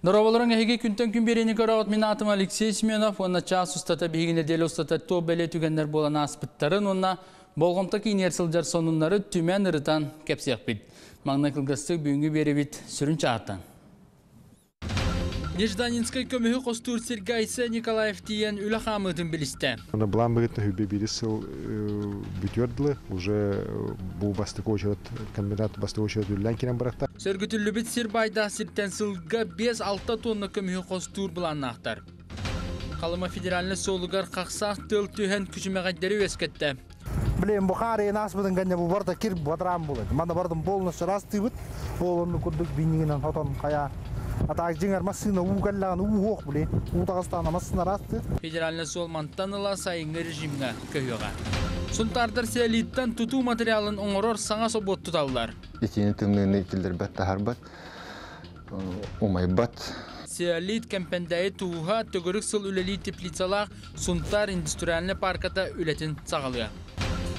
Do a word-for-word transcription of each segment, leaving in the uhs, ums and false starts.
Дорооболоруҥ, эһиги Күнтэн күн биэриини көрөҕүт. Мин аатым Алексей Семенов уонна чаас устата биһиги нэдиэлэ устата туох бэлиэ түгэннэр буолан ааспыттарын уонна болҕомто киинигэр сылдьар сонуннары түмэн ырытан кэпсиэхпит. Маҥнай кылгастык бүгүҥҥү биэриибит сүрүн чааһыттан. Нежданинскай көмүһү хостуур сиргэ Айсен Николаев тиийэн үлэ хаамыытын билистэ. Былаан быһыытынан сүүрбэ биир сыл бүтүөр дылы уже бу бастакы очередь комбинат бастакы очередь үлэлээн киирэн барахта. Сөргүтүллүбүт сир баайдаах сиртэн сылга биэс алта тонна көмүһү хостуур былааннаахтар. Халыма федеральнай суолугар хахсаах тыал түһэн күчүмэҕэйдэри үөскэттэ. Блин, бу хаар ааспытын кэннэ бу барыта кир бадараан буолар. Манна барытын полностью ырастыыбыт. Ол оннук курдук биннигинэн хотон хайа. А так дьиҥэр массыына уу кэллэҕинэ уу суох, блин. Уу таҕыстаҕына массыына ырастыыр. Федеральнай суол мантан ыла сайыҥҥы режимҥэ көһүөҕэ. Сунтаардар цеолиттан тутуу материалын оҥорор саҥа собуот туталлар. Итиини тымныыны киллэрбэт, таһаарбат, умайбат. Цеолит Кэмпэндээйи тууһа төгүрүк сыл үлэлиир теплицалаах Сунтаар индустриальнай парката үлэтин саҕалыа.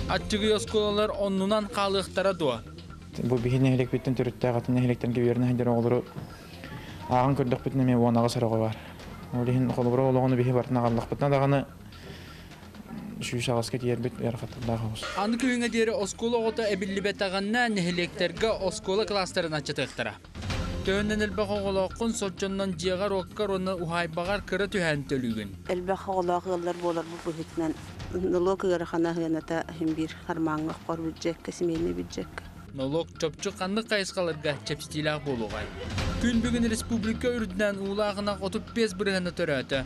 Аччыгый оскуолалар оннунан хаалыахтара дуо? Бу биһи нэһилиэкпиттэн төрүттээх атын нэһилиэктэргэ үөрэнэ сылдьар оҕолору ааҕан көрдөхпүтүнэ эмиэ уон аҕыс эрэ оҕо баар. Ол иһин холобура олоҕуну биһи барытын аҕаллахпытына даҕаны сүүс аҕыска тиийэрбит ыарахаттардаах оҕус. Аны күһүҥҥэ диэри оскуола оҕото эбиллибэтэҕинэ нэһилиэктэргэ оскуола кылаастарын аччатыахтара. Төһөннөн элбэх оҕолооххун, соччоннон дьиэҕэр, уоккар уонна уһаайбаҕар кыра түһээн төлүүгүн. Элбэх оҕолоох ыаллар буоларбыт быһыытынан нолуок ыарахана сыаната иһин биир хармааҥҥа хор бюджекка, семейный бюджекка. Нолуок чопчу ханнык хайысхаларга чэпчэтиилээх буолуоҕай? Күн бүгүн республика үрдүнэн уулаах ынах отут биэс бырыһыана төрөөтө.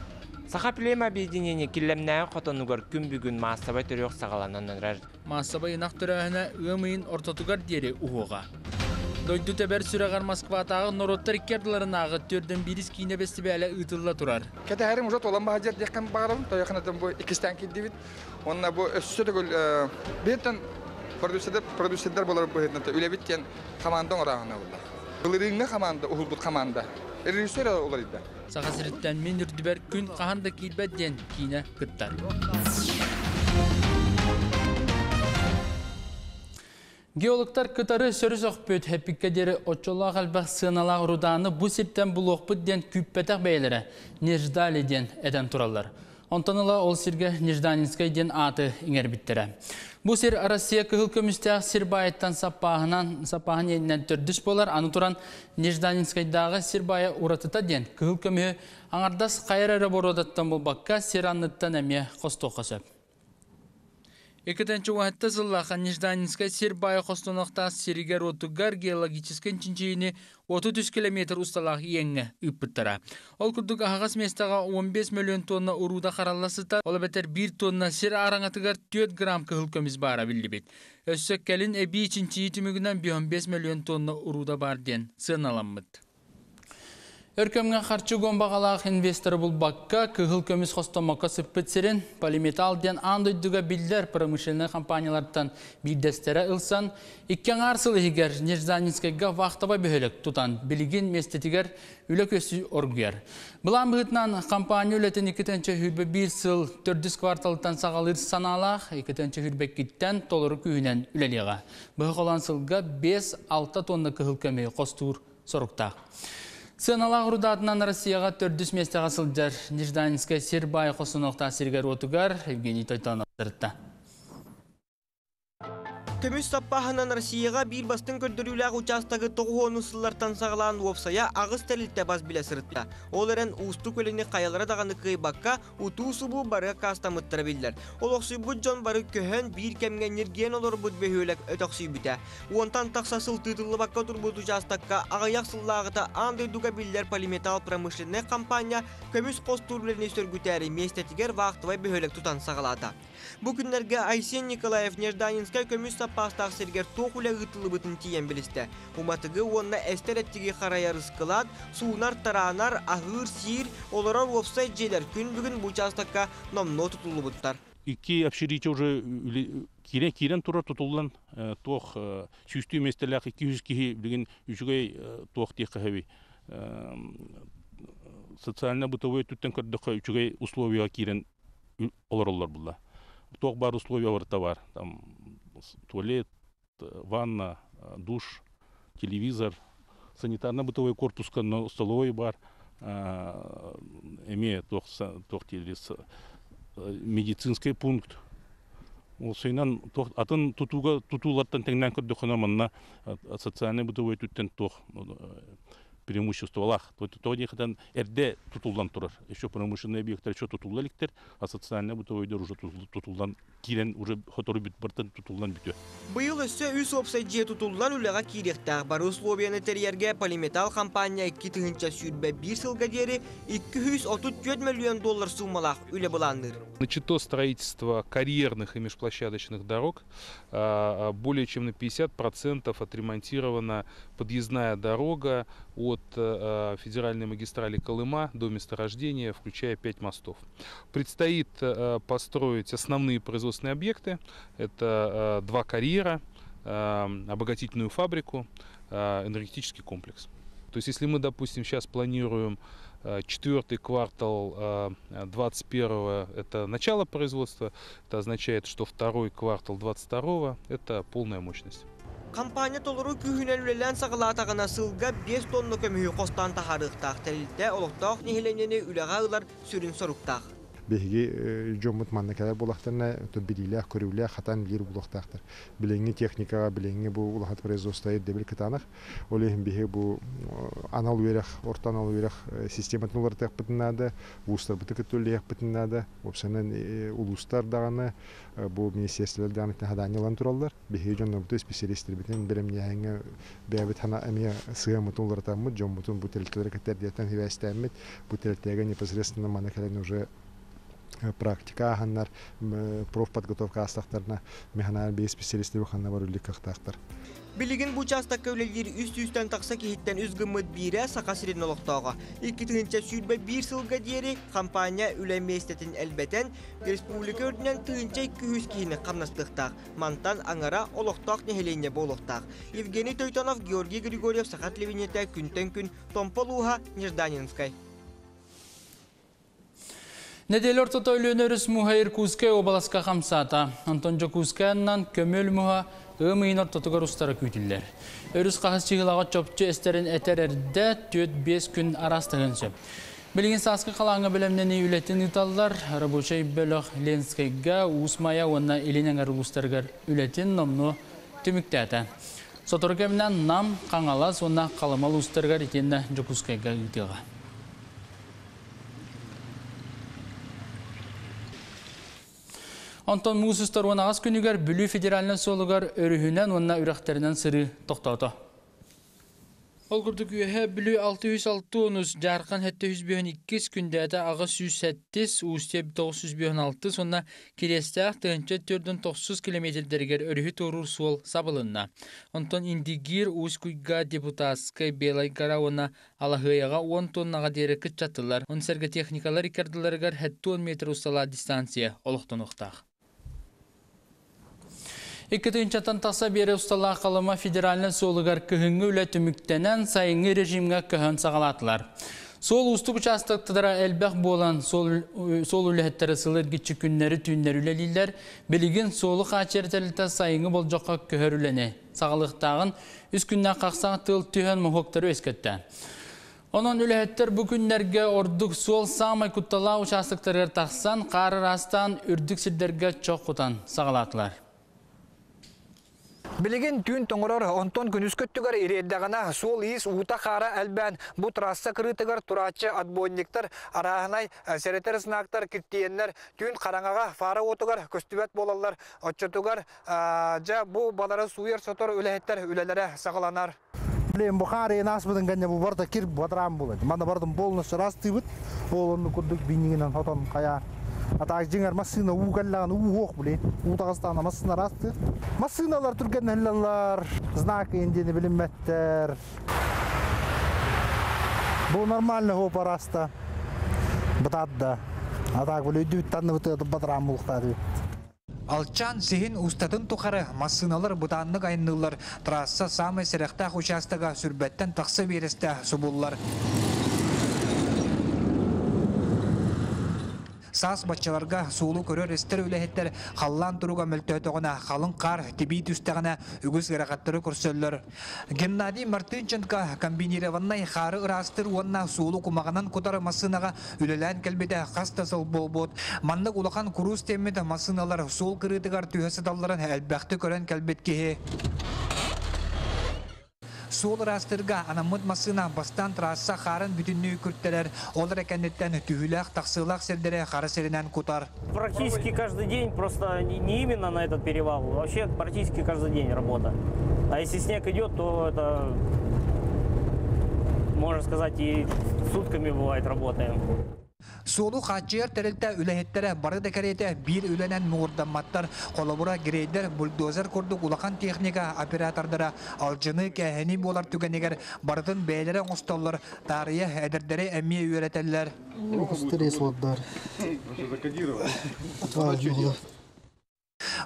Саха племя объединение Киллэмнээҕи хотонугар күн бүгүн маассабай төрүөх саҕаланан эрэр. Маассабай ынах төрөөһүнэ ыам ыйын ортотугар диэри уһуоҕа. Дойду тэбэр сүрэҕэр Москватааҕы норуоттар икки ардыларынааҕы төрдөн биирис киинэ бэстибээлэ ыытылла турар. Кэтэһэрим уже туолан баһадьар диэххин баҕарабын, тойоханатын бу иккистээн киирдибит. Онно бу өссө төгүл бииртэн продюсердар продюсердар буолар быһыытынан үлэбит диэн команда оҥорооһуна буолла. Былырыыҥҥа команда, уһулбут команда. Режиссер уларыйда. Саха сириттэн мин үрдүбэр күн хаһан да киирбэт диэн киинэ кыттар. Геологтар кытары сөрүс охпүт хэппикке диэри оччолоох элбэх сыаналаах рудааны бу сиртэн булуохпут диэн күүппэтэх бэйэлэрэ Неждали диэн этэн тураллар. Онтон ыла ол сиргэ Нежданинскай диэн ааты иҥэрбиттэрэ. Бу сир Россия кыһыл көмүстээх сир баайыттан саппааһынан саппааһын иэнинэн төрдүс буолар. Аны туран Нежданинскайдааҕы сир баайа уратыта диэн кыһыл көмүһү аҥардас хайар эрэ боруодаттан булбакка сир анныттан эмиэ хостуохха сөп. Икки тыһыынча сыллаахха Нежданинскай сир баайа хостонуохтаах сиригэр уотугар геологическай чинчийиини отут үс километр усталаах иэҥҥэ ыыппыттара. Ол курдук аһаҕас миэстэҕэ он биэс миллион тонна урууда харалла сытар, ол эбэтэр биир тонна сир араҥатыгар түөрт грамм кыһыл көмүс баара биллибит. Өссө кэлин эбии чинчийии түмүгүнэн он биэс миллион тонна урууда бар диэн сыаналаммыт. Өркөмҥө харчы уган инвесторы булбакка кыһыл көмүс хостоммокко сыппыт сирин Полиметалл диэн аан дойдуга биллэр промышленнай компаниялартан биирдэстэрэ ылсан, икки аҥаар сыл иһигэр Нежданинскайга вахтовай бөһүөлэк тутан билигин миэстэтигэр үлэ күөстүү оргуйар. Былаан быһыытынан компания үлэтин икки тыһыынча сүүрбэ биир сыл төрдүс кварталыттан саҕалыыр санаалаах, икки тыһыынча сүүрбэ иккиттэн толору күүһүнэн үлэлиэҕэ. Быһа холоон сылга биэс алта тонна кыһыл көмүһү хостуур соруктаах. Сыаналаах рудаатынан Россияҕа төрдүс миэстэҕэ сылдьар Нежданинскай сир баайа хостонуохтаах сиригэр уотугар Евгений Тойтонов сырытта. Көмүс саппааһынан Россияҕа биир бастыҥ көрдөрүүлээх учаастагы тоҕус уон сыллартан саҕалаан уопсайа аҕыс тэрилтэ бас билэ сырытта. Ол эрэн уустук үлэни хайалара даҕаны кыайбакка утуу-субуу бары аккаастаммыттара биллэр. Олохсуйбут дьон бары көһөн биир кэмҥэ ньиргиэн олорбут бөһүөлэк өтөхсүйбүтэ. Уонтан тахса сыл тыытыллыбакка турбут учаастакка аҕыйах сыллааҕыта аан дойдуга биллэр Полиметалл промышленнай компания көмүс хостуур үлэни сөргүтээри миэстэтигэр вахтовай бөһүөлэк тутан саҕалаата. Бу күннэргэ Айсен Николаев Нежданинскай көмүс саппаастаах сиригэр туох үлэ ыытыллыбытын тиийэн билистэ. Уматыгы уонна эстэр эттиги харайар ыскылаат, суунар, тараанар, аһыыр, сиир, олорор уопсай дьиэлэр күн бүгүн бу учаастакка номнуо тутуллубуттар. Икки общежитие уже киирэн киирэн турар тутуллан туох сүүстүү миэстэлээх икки жүз киһи билигин үчүгэй туох диэххэ сөбүй социально-бытовой өттүттэн көрдөххө үчүгэй условияҕа киирэн олороллор булла. Туох баар условия барыта бар. Там туалет, ванна, душ, телевизор, санитарно-бытовой корпуска, но столовой бар, Эмиэ туох медицинский пункт. Ол сыйнан атын тутууга тутуулартан тэҥнээн көрдөххүнэ манна социальный бытовой түттен туох преимуществолах. То диэхэтэн эрдэ тутуллан турар. Еще промышленный объекттар еще тутулла иликтер, а социальный бытовойдор уже тутуллан киирэн уже хотору бүт бартан тутуллан бүтүө. Быйыл өссө үс уопсай дьиэ тутуллан үлэҕэ киириэхтээх. Бары условияны тэрийэргэ Полиметалл компания икки тыһыынча сүүрбэ биир сылга диэри икки сүүс отут түөрт миллион доллар суумалаах үлэ былаанныыр. Начато строительство карьерных и межплощадочных дорог. Более чем на пятьдесят процентов отремонтирована подъездная дорога от федеральной магистрали Колыма до месторождения, включая пять мостов. Предстоит построить основные производственные объекты. Это два карьера, обогатительную фабрику, энергетический комплекс. То есть если мы, допустим, сейчас планируем четвертый квартал двадцать первого это начало производства, это означает, что второй квартал двадцать второго это полная мощность. Компания толору күүһүнэн үлэлээн саҕалаатаҕына сылга биэс тонна көмүһү хостаан таһаарыахтаах. Тэрилтэ олохтоох нэһилиэнньэни үлэҕэ ылар сүрүн соруктаах. Биһиги дьоммут манна кэлэр буоллахтарына билиилээх, көрүүлээх, хатан билир буолуохтаахтар. Билиҥҥи техникаҕа, билиҥҥи бу улахан производство ирдэбил кытаанах. Ол иһин биһиги бу анал үөрэх, орто анал үөрэх систематын уларытыахпытын наада, вузтарбыты кытта үлэлиэхпитин наада. Уопсайынан улуустар даҕаны, бу министерстволар даҕаны хадаанньа ылан тураллар. Биһиги дьоннорбутун, специалистербитин бэлэмнээһиҥҥэ бэйэбит хана эмиэ сыаммытын уларытаммыт, дьоммутун бу тэрилтэлэри кытта эрдиэттэн хибээстээммит, бу тэрилтэгэ непосредственно манна кэлэн уже практика аханнар, профподготовка астақтарына механар бей специалисттер ханна бар үллик кахтаахтар. Билигин бу участокка үлэлиир үс сүүстэн тахса киһиттэн үс гыммыт биирэ Саха сирин олохтооҕо. Икки тыһыынча сүүрбэ биир сылга диэри компания үлэ миэстэтин элбэтэн республика үрдүнэн тыһыынча икки жүз киһини хамнастыахтаах. Мантан аҥара олохтоох нэһилиэнньэ буолуохтаах. Евгений Тойтонов, Георгий Григорьев, Саха телевидениетэ, күнтэн күн, Томпо улууһа, Нежданинскай. Неделя ортото Өлүөнэ өрүс муха Иркутскай уобаласка хамсаата. Онтон Дьокуускайынан көмөл муха ыам ыйын ортотугар устара күүтүллэр. Өрүс хаһыс чыгылаҕа чопчу эстерин этэр эрдэ түөрт биэс күн арастыгын сөп. Билигин сааскы халааҥҥа бэлэмнэнии үлэтин ыыталлар. Рабочай бөлөх Ленскэйгэ, Уус Майа уонна Илин эҥэр улуустарыгар үлэтин номнуо түмүктээтэ. Сотору кэминэн Нам, Хаҥалас уонна Халыма улуустарыгар итиэннэ Дьокуускайга ыытыаҕа. Онтон муус устар уон аҕыс күнүгэр Бүлүү федеральнай суолугар өрүһүнэн уонна үрэхтэринэн сырыы тохтоото. Ол курдук үөһэ Бүлүү алты жүз алты онус, Дьаархан сэттэ жүз биэс иккис, Күндээдэ аҕыс сүүс сэттис, Уустуйа тоҕус жүз биэс алты, сонна Кириэстээх тыһыынча төрдүн тохсус километрдэригэр өрүһү туоруур суол сабылынна. Онтон Индигир, Усть-Куйга, Депутатскай, Белай Гора уонна Алаһыайаҕа уон тоннаҕа диэри кытчаттылар. Он сэргэ техникалар иккардыларыгар сэттэ уон метр усталаах дистанция олохтонуохтаах. Икки тыһыынчаттан тахса биэрэ усталаах Халыма федеральнай суолугар кыһыҥҥы үлэ түмүктэнэн сайыҥҥы режимҥэ көһөн саҕалаатылар. Суол уустук участоктара элбэх буолан суол үлэһиттэрэ сыл эргиччи күннэри түүннэри үлэлииллэр. Билигин суолу хааччыйар тэрилтэ сайыҥҥы болдьоххо көһөр үлэни саҕалыахтааҕын үс күннээх хахсаах тыал түһэн моһуоктары үөскэттэ. Онон үлэһиттэр бу күннэргэ ордук суол саамай кутталаах участоктарыгар тахсан, хаар ыраастаан үрдүк сирдэргэ чох кутан саҕалаатылар. Билигин түүн тоҥорор, онтон күнүс көттүгэр ириэрдэҕинэ суол иис уута хаара элбээн бу трасса кырыытыгар турааччы отбойниктар, арааһынай сэрэтэр знактар киртийэннэр түүн хараҥаҕа фара уотугар көстүбэт буолаллар. Оччотугар дьэ бу балары сууйар сотор үлэһиттэр үлэлэрэ саҕаланар. Блин, бу хаар ыйын ааспытын кэннэ бу барыта кир батараан буолар. Манна барытын полностью ырастыыбыт. Ол оннук курдук биннигинэн хотон хайа. А так жиңар массыына уу кэллэҕин уу уох блин. Уу таҕыстаҕына массыына ырастыыр. Массыыналар түргэннэллэр, знак индиэни билиммэттэр. Бу нормально хоп араста. Бытаатда. А так бу өйдүбүт танныбыт батараан булуктаады. Алчан сиһин устатын тухары массыыналар бытааннык айанныыллар. Трасса самай сэрэхтээх участога сүрбэттэн тахса биэрэстэ субуллар. Саас баччаларга суолу көрөр истэр үлэһиттэр халлаан туруга мөлтөөтөҕүнэ, халыҥ хаар тибии түстэҕинэ үгүс ыарахаттары көрсөллөр. Геннадий Мартынченко комбинированнай хаары ыраастыыр уонна суолу кумаҕынан кутар массыынаҕа үлэлээн кэлбитэ хас да сыл буолбут. Маннык улахан куруус тиэммит массыыналар суол кырыытыгар түһэ сыталларын элбэхтик көрөн кэлбит киһи. Суол ыраастыырга анаммыт массыына бастаан трасса хаарын бүтүннүү күртэрэр, ол эрэ кэнниттэн түһүүлээх тахсыылаах сирдэри хара сиринэн кутар. Практически каждый день, просто не именно на этот перевал, вообще практически каждый день работа. А если снег идет, то это, можно сказать, и сутками бывает работаем. Суолу хааччыйар тэрилтэ үлэһиттэрэ бары да кэриэтэ биир үлэнэн муҥурдамматтар. Холобура, грейдер, бульдозер курдук улахан техника оператордара алдьаныы кээһэнии буолар түгэнигэр барытын бэйэлэрэ оҥостоллор, таарыйа эдэрдэри эмиэ үөрэтэллэр.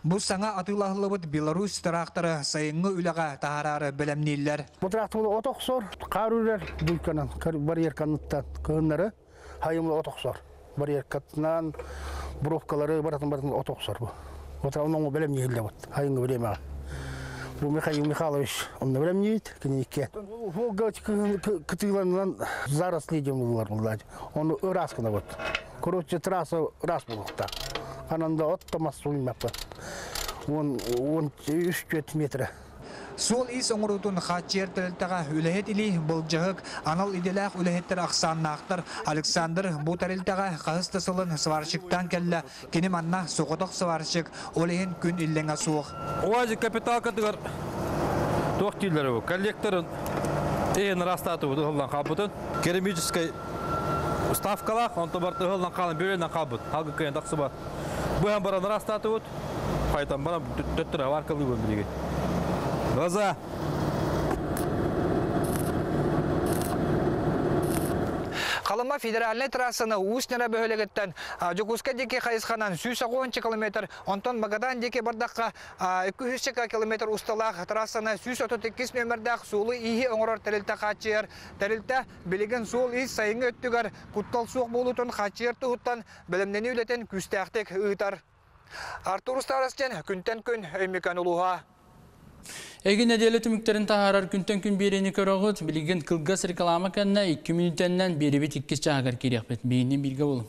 Бу саҥа атыылаһыллыбыт Беларусь тыраахтары сайыҥҥы үлэҕэ таһаараары бэлэмнииллэр. Бу тыраахтар от охсор, хаар үрэр дуйканан, барьерканыттан кыһыннары хайымлы от охсор. Барьеркатынан бровкалары баратын баратын от охсор бу. Вот онно бэлэмнииллэр вот хайыҥҥы времяҕа. Бу Михаил Михайлович онно бэлэмниит киниикке. Волга кытыыланынан заросли дем булар. Оны ыраас гына вот. Короче, трасса ыраас булуқта. Ананда от томас суймаппы. Он он үс төрт метр. Суол-иис оҥоруутун хааччыйар тэрилтэҕэ үлэһит илии былдьаһык, анал идэлээх үлэһиттэр ахсааннаахтар. Александр бу тэрилтэҕэ хаһыс да сылын сварщиктаан кэллэ. Кини манна соҕотох сварщик, ол иһин күн иллэҥэ суох. УАЗик капиталкатыгар туох дииллэр бу? Коллекторын эһин ырастаатыбыт ыһыллан хаалбытын. Керамическай уставкалаах, онто барыта ыһыллан хаалан бөрөнөн хаалбыт. Халгы кыайан тахсыбат. Быһан баран ырастаатыбыт. Хайтан баран төттөрө варкалыыбын билигин. Глаза. Халыма федеральнай трассаны Уус-Ньара бөһүөлэгиттэн Дьокуускай диэки хайысханан сүүс тоҕус километр, онтон Магадан диэки бардахха икки сүүс километр усталаах трассаны сүүс отут икки нүөмэрдээх суолу-ииһи оҥорор тэрилтэ хааччыйар. Тэрилтэ билигин суол-иис сайыҥҥы өттүгэр куттал суох буолуутун хааччыйар туһуттан бэлэмнэнии үлэтин күүстээхтик ыытар. Артур Старостин, күнтэн күн Өймөкөөн улууһа. Эги нэдиэлэ түмүктэрин таһаарар күнтэн күн биэриини көрөҕүт, билигин кылгас реклама кэннэ икки мүнүүтэннэн биэрибит иккис чааһыгар киириэхпит. Биһиэнин бииргэ буолуҥ.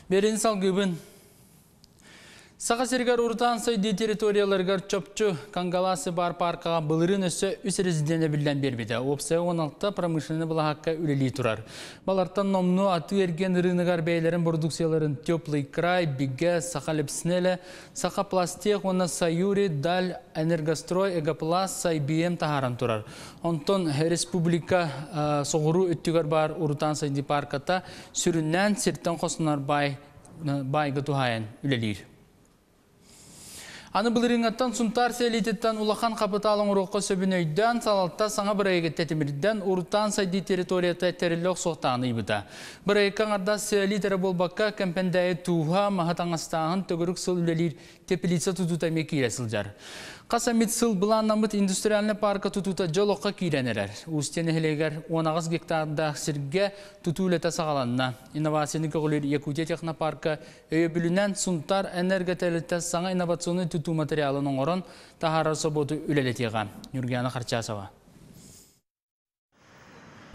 Берин салгыбын. Саха сиригэр урутаан сайдыы территорияларыгар чопчу Кангаласы бар паркаға былырыын өссө үс резиденэ биллэн биэрбитэ. Уопсайа он алта промышленный былаһакка үлэлии турар. Балартан номнуо атыы эргиэн ырыыныгар бэйэлэрин продукцияларын Теплый край, Бигэ, Саха Лепснеле, Саха Пластех уонна Саюри, Даль, Энергострой, Эгопласт, Сайбием таһааран турар. Онтон республика соҕуруу өттүгэр бар урутаан сайдыы парката сүрүннээн сиртэн хостонор бай байга туһаайан үлэлиир. Аны былырыыҥҥаттан Сунтаар сэлиититтэн улахан хапытаал оҥоруохха сөбүн өйдөөн, салалта саҥа бырайыгы тэтимирдэн урутаан сайдыы территорията тэриллэ охсуохтааҕын ыйбыта. Бырайыкка аҥардас сэлиит эрэ буолбакка, Кэмпэндээйи тууһа, маһы таҥастааһын, төгүрүк сыл үлэлиир теплица тутуута эмиэ киирэ сылдьар. Хас эмит сыл былааннаммыт индустриальнай парка тутуута дьол окко киирэн эрэр. Устье нэһилиэгэр он аҕыс гектардаах сиргэ тутуу үлэтэ саҕаланна. Инновацияны көҕүлүүр Якутия технопарка өйөбүлүнэн Сунтаар энерготэрилтэ саҥа инновационнай тутуу материалын оҥорон таһаарар собуоту үлэлэтиэҕэ. Нюргиана Харчасова.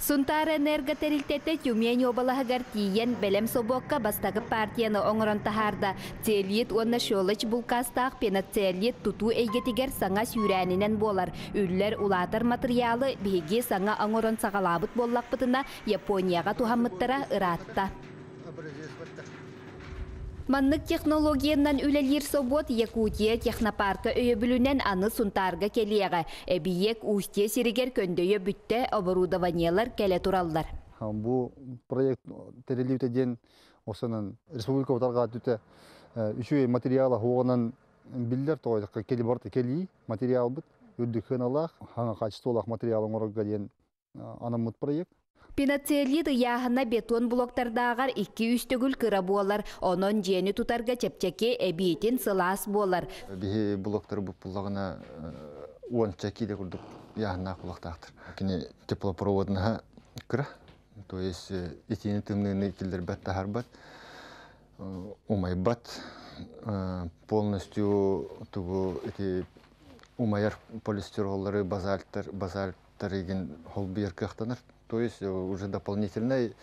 Сунтаар энерготэрилтэтэ Тюмень уобалаһыгар тиийэн бэлэм собуокка бастакы партияны оҥорон таһаарда. Целлит уонна щелочь булкаастаах пеноцеллит тутуу эйгэтигэр саҥа сүүрээнинэн буолар. Үллэр улаатар матырыйаалы биһиги саҥа оҥорон саҕалаабыт буоллахпытына Японияҕа туһаммыттара ыраатта. Маннык технологиянан үлэлиир собуот Якутия технопарка өйөбүлүнэн аны Сунтаарга кэлиэҕэ. Эбийиэк Устье сиригэр көндөйө бүттэ оборудованиелар кэлэ тураллар. Бу проект тэриллибитэ диэн осанан республика утарга түтэ Үчүгэй материала хуонан биллер тоойдакка кели барта кели материал бит үрдүк хыналаах хаңа качестволаах материал оҥорорго диэн анаммыт проект. Пеноцеолит ыйааһына бетон блоктардааҕар икки үс төгүл кыра буолар, онон дьиэни тутарга чэпчэки, эбиитин сылаас буолар. Биһи блоктары буппуллагына уонча киилэ курдук ыйааһыннаах булуохтаахтар. Кини теплопроводнаһа кыра, то есть итиини тымныыны киллэрбэт таһарбат, умайбат, полностью тугу ити умайар полистироллары, базальттар, базальттар игин холбуйар кыахтанар. То есть уже дополнительный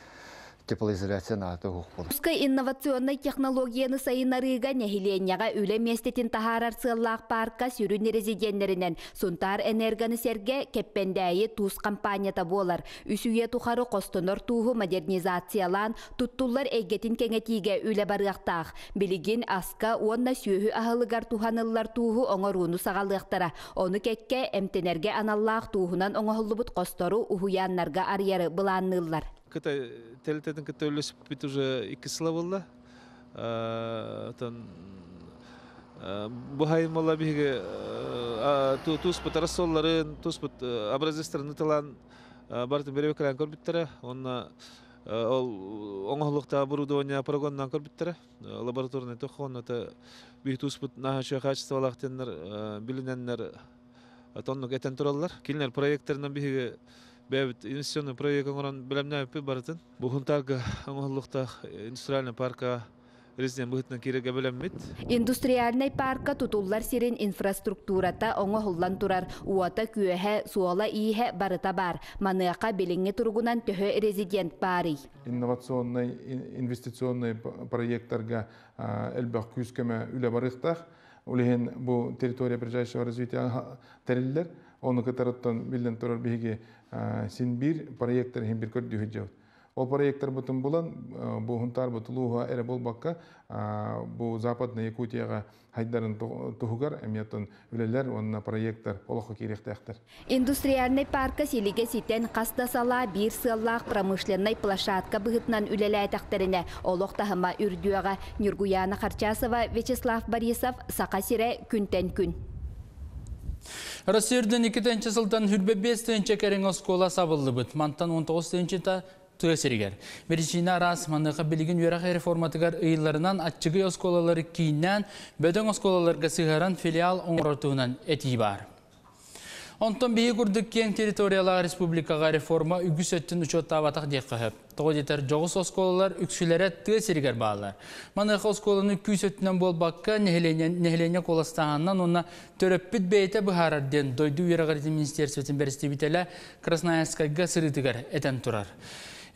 теплоизоляция наата хух болар. Ускай инновационнай технологияны сайынарыыга нэһилиэнньэҕэ үлэ миэстэтин таһаарар сыаллаах парка сүрүн резиденнэринэн Сунтаар энергоны сэргэ Кэппэндээйи туус компанията буолар. Үс үйэ тухары хостонор тууһу модернизациялаан туттуллар эйгэтин кэҥэтиигэ үлэ барыахтаах. Билигин аска уонна сүөһү аһылыгар туһаныллар тууһу оҥорууну саҕалыахтара. Ону кэккэ эмтэнэргэ аналлаах тууһунан оҥоһуллубут хостору уһуйааннарга арыйары былаанныыллар. Кытай тэрилтэтин кытта үлэлэспит уже икки сыла буолла. Бу хайымала биһиги тууспут рассолларын, тууспут образецтарын ытылаан бартын беребекелен көрбүттэрэ. Онна ол оҥоһулуктаа оборудование прогоннан көрбүттэрэ. Лабораторный тохон это биһи тууспут наһаа качестволаах теннер билиненнер тоннук этен тураллар. Кинилер проекторынан биһиги бэбит инвестиционный проект оҥорон билэмнээппит барытын. Бу Хунтарга оҥоһуллуктаах индустриальный парка резидент быһытынан киирэргэ билэммит. Индустриальный парка тутуллар сирин инфраструктурата оҥоһуллан турар. Уота күөһэ, суола ииһэ барыта бар. Маныаха билиҥҥи туругунан төһө резидент баарый. Инновационный, инвестиционный проекттарга элбэх күүс көмө үлэ барыахтаах. Улиһин бу территория ближайшего развития тэриллэр. Оны кытарыттан билден турар биһиги син бир проекттар хим бир көрдү жабыт. Ол проекттар бутун булан бу Хунтар бу Тулуха эре болбакка бу Западная Якутияга хайдарын туһугар эмиятын үлелер онна проекттар олохо киирехтээхтер. Индустриальный парка силиге ситен хаста сала бир сыаллаах промышленный площадка быһытынан үлэлээтэхтерине олох таһыма үрдүөҕэ. Нюргуяна Харчасова, Вячеслав Борисов, Саха сирэ күнтэн күн. Россиярдын икки тыһыынча сылтан хүрбэ бес тыһыынча кэриҥ оскуола сабыллыбыт. Мантан он тоҕус тыһыынчата тыа сиригэр. Беричине араас маныаха билигин үөрэх реформатыгар ыйылларынан аччыгый оскуолалары кииннээн бөдөҥ оскуолаларга сыһаран филиал оҥоротуунан этии баар. Онтон биһи курдук киэҥ территориялаах республикаҕа реформа үгүс өттүн учуоттаабатах диэххэ сөп. Тоҕо диэтэр дьоҕус оскуолалар үксүлэрэ тыа сиригэр бааллар. Маныаха оскуоланы күүс өттүнэн буолбакка нэһилиэнньэ куоластааһынынан уонна төрөппүт бэйэтэ быһаарар диэн дойду үөрэҕиритин министерствотын бэрэстэбиитэлэ Красноярскайга сырыытыгар этэн турар.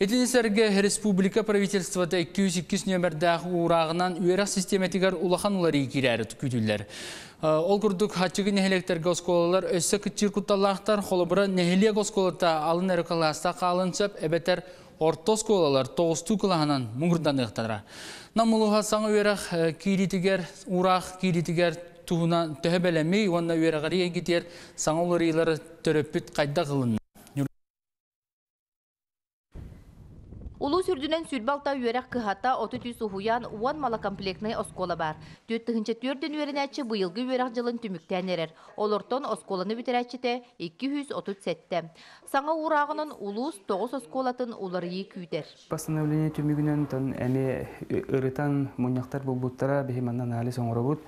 Итини сэргэ республика правительствота икки жүз иккис нөмердээх уурааҕынан үөрэх систематыгар улахан уларыы киирээри күүтүллэр. Ол курдук хаччыгы нэһилиэктэргэ оскуолалар өссө кытчыыр кутталлаахтар, холобура нэһилиэк оскуолата алын эрэ кылааста хаалын сөп, эбэтэр орто оскуолалар тоҕустуу кылааһынан муҥурданыахтара. Нам улууһа саҥа үөрэх кииритигэр, уураах кииритигэр туһунан төһө бэлэмий уонна үөрэҕэри эйгитиэр саҥа уларыылары төрөппүт хайдах ылынна. Улуу сүрдүнэн сүрбалта үөрэх кыһата отут үс уһуян уон малокомплектный оскуола бар. Түөрт тыһыынча түөртөн үөрэнээччи быйылгы үөрэх дьылын түмүктээн эрэр. Олортон оскуоланы бүтэрээччитэ икки жүз отут сэттэ. Саҥа уурааҕынан улуус тоҕус оскуолатын уларыйыы күүтэр. Постановление түмүгүнэн тон эми ырытан мунньахтар булбуттара биһи манна анализ оҥоробут.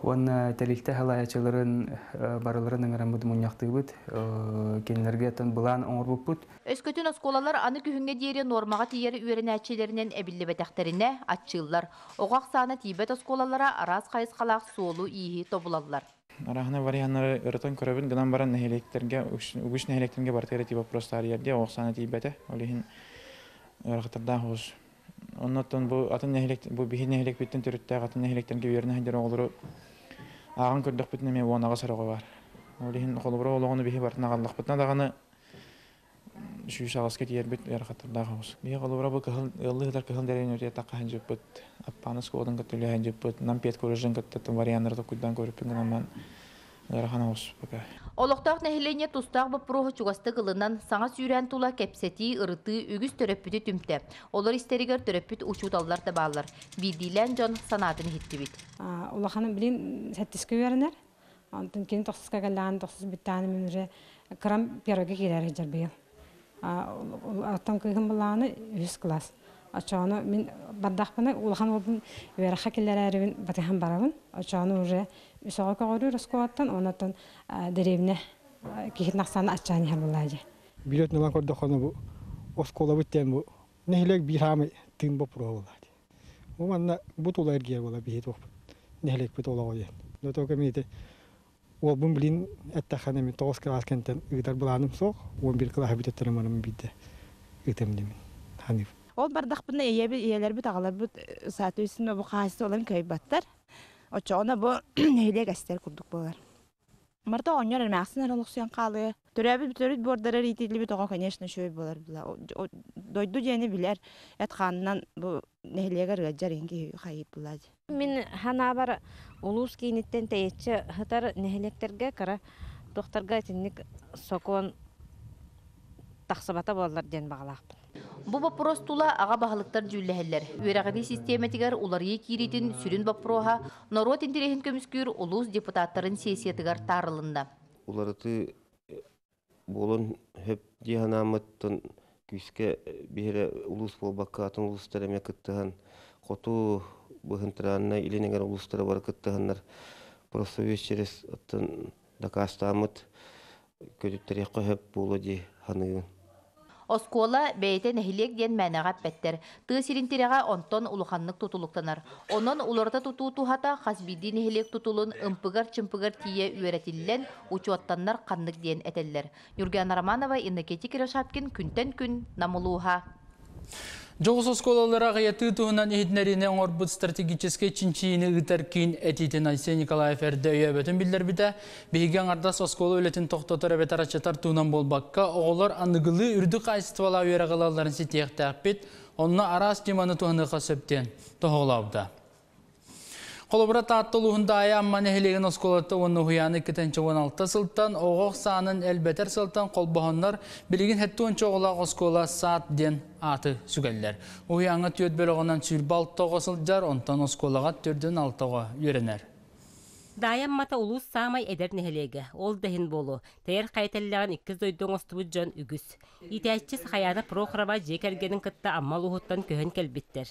Уонна тэрилтэ халаячыларын барыларын ыңыраммыт мунньахтыыбыт, кинилэргэ тон былаан оҥорбуппут. Өскөтүн оскуолалар аны күһүҥҥэ диэри нормаҕа тиийэр үөрэнээччилэринэн эбиллибэтэхтэринэ аччыыллар. Оҕо ахсаана тиийбэт оскуолалара араас хайысхалаах суолу ииһи тобулаллар. Арахына варианнары ырытан көрөбүн гынан баран нэһилиэктэргэ, үгүс нэһилиэктэргэ бартыгар тиийбэт вопрос таарыйар оҕо ахсаана тиийбэтэ. Ол иһин ыарахаттардаах оҕус. Оннуттан бу атын нэһилиэк, бу биһи нэһилиэкпиттэн төрүттээх атын нэһилиэктэргэ үөрэнэ сылдьар оҕолору ааҕан көрдөхпүтүнэ эмиэ уон аҕыс оҕо бар. Ол иһин холобура олоҕуну биһи бартын аҕаллахпытына даҕаны сүүс аҕыска тиийэрбит ыарахаттардаах оҕус. Биһи холобура бу кыһыл ыаллыытар кыһыл дэриэн үрдүгэ таххаһын дьыппыт, аппааны скуолатын кытта үлэһэн дьыппыт, нам пет колледжын кытта варианнары токуйдаан көрүппүн гынан Ыарахан оҕус пока. Олохтоох нэһилиэнньэ тустаах боппуруоһу чугастык ылынан, саҥа сүүрээн тула кэпсэтии, ырытыы үгүс төрөппүтү түмтэ. Олор истэригэр төрөппүт учууталлар да бааллар. Биирдиилээн дьон санаатын иһиттибит. Улаханым билигин сэттискэ үөрэнэр. Онтон кини тохсуска кэллэҕинэ, тохсус бүттэҕинэ мин уже кырам первыйга киирэр сылдьар быйыл. Оттон кыыһым былааны үһүс класс. Оччоҕуна мин бардахпына улахан уолбун үөрэххэ киллэрээрибин батыһан барабын. Оччоҕуна уже үс оҕо көҕүрүүр оскуолаттан, онон дэриэбинэ киһитин ахсаана аччаан иһэр буоллаа дии. Билет ылан көрдөххүнэ бу оскуолабыт диэн бу нэһилиэк биир хаамай тыын боппуруоһа буолла дии. Бу манна бу тула эргийэр буолла биһи туохпут нэһилиэкпит олоҕо диэн. Но только мин ити уолбун билин эттэххинэ мин тоҕус кылаас кэнниттэн ыытар былааным суох, уон биир кылааһы бүтэртэрим баран биирдэ ыытыам диэмин саныыбын. Ол бардахпына ийэбит, ийэлэрбит, аҕаларбыт соответственно бу хаһаайыстыбаларын кыайбаттар. Оччоҕуна бу нэһилиэк эстэр курдук буолар. Марта оҕонньор эмээхсин эрэ олохсуйан хаалыа. Төрөөбүт төрүт буордарар иитиллибит оҕо, конечно, үчүгэй буолар була. Дойду диэни билэр, эт хаанынан бу нэһилиэгэр ыалдьар иһин киһи хайыыр буолаа дии. Мин санаабар улуус кииниттэн тэйиччи сытар нэһилиэктэргэ кыра туохтарга итинник сокуон тахсыбата буоллар диэн баҕалаахпын. Бу боппуруос тула аҕа баһылыктар дьүүллэһэллэр. Үөрэҕирии систиэмэтигэр уларыйыы киириитин сүрүн боппуруоһа норуот интэриэһин көмүскүүр улуус депутаттарын сессиятыгар таарылынна. Уларытыы буолуон сөп дии санааммыттан күүскэ биһири улуус буолбакка атын улуустар эмиэ кыттыһан хоту быһынтыраанна илин эҥэр улуустара бары кыттыһаннар профсоюз через оттон дакаастааммыт көтүттэриэххэ сөп буолуо дии саныыбын. Оскуола бэйэтэ нэһилиэк диэн мээнэҕэ эппэттэр. Тыа сирин тирэҕэ онтон улаханнык тутулуктанар. Онон уларыта тутуу туһата хас биирдии нэһилиэк тутулун ымпыгар-чымпыгар тиийэ үөрэтиллэн, учуоттаннар ханнык диэн этэллэр. Нюргиана Романова, Иннокентий Кирашапкин, күнтэн күн, Нам улууһа. Дьоҕус оскуолалара аҕыйатыы туһунан иһитиннэриини оҥорбут стратегическай чинчийиини ыытар киин этиитин Айсен Николаев эрдэ өйөөбөтүн биллэрбитэ. Биһиги аҥардас оскуола үлэтин тохтотор эбэтэр аччатар туһунан буолбакка, оҕолор аныгылыы үрдүк хаачыстыбалаах үөрэҕи ылалларын ситиэхтээхпит, онно араас ньыманы туһаныахха сөп диэн тоһоҕолообута. Холобура, Таатта улууһун Даайа Амма нэһилиэгин оскуолата уонна уһуйаана икки уон алта сылтан оҕо саанын элбэтэр сылтан холбоһоннор билигин сэттэ уонча оҕолоох оскуола саат диэн ааты сүгэллэр. Уһуйааҥҥа түөрт бөлөҕүнэн сүүрбэ алта оҕо сылдьар, онтон оскуолаҕа төрдүн алта оҕо үөрэнэр. Даайа Аммата улуус саамай эдэр нэһилиэгэ, ол да иһин буолуо, тэйэр хайа тэллэҕин иккис дойду оҥостубут дьон үгүс. Иитээччи Сахаяна Прохорова дьиэ кэргэнин кытта Амма улууһуттан көһөн кэлбиттэр.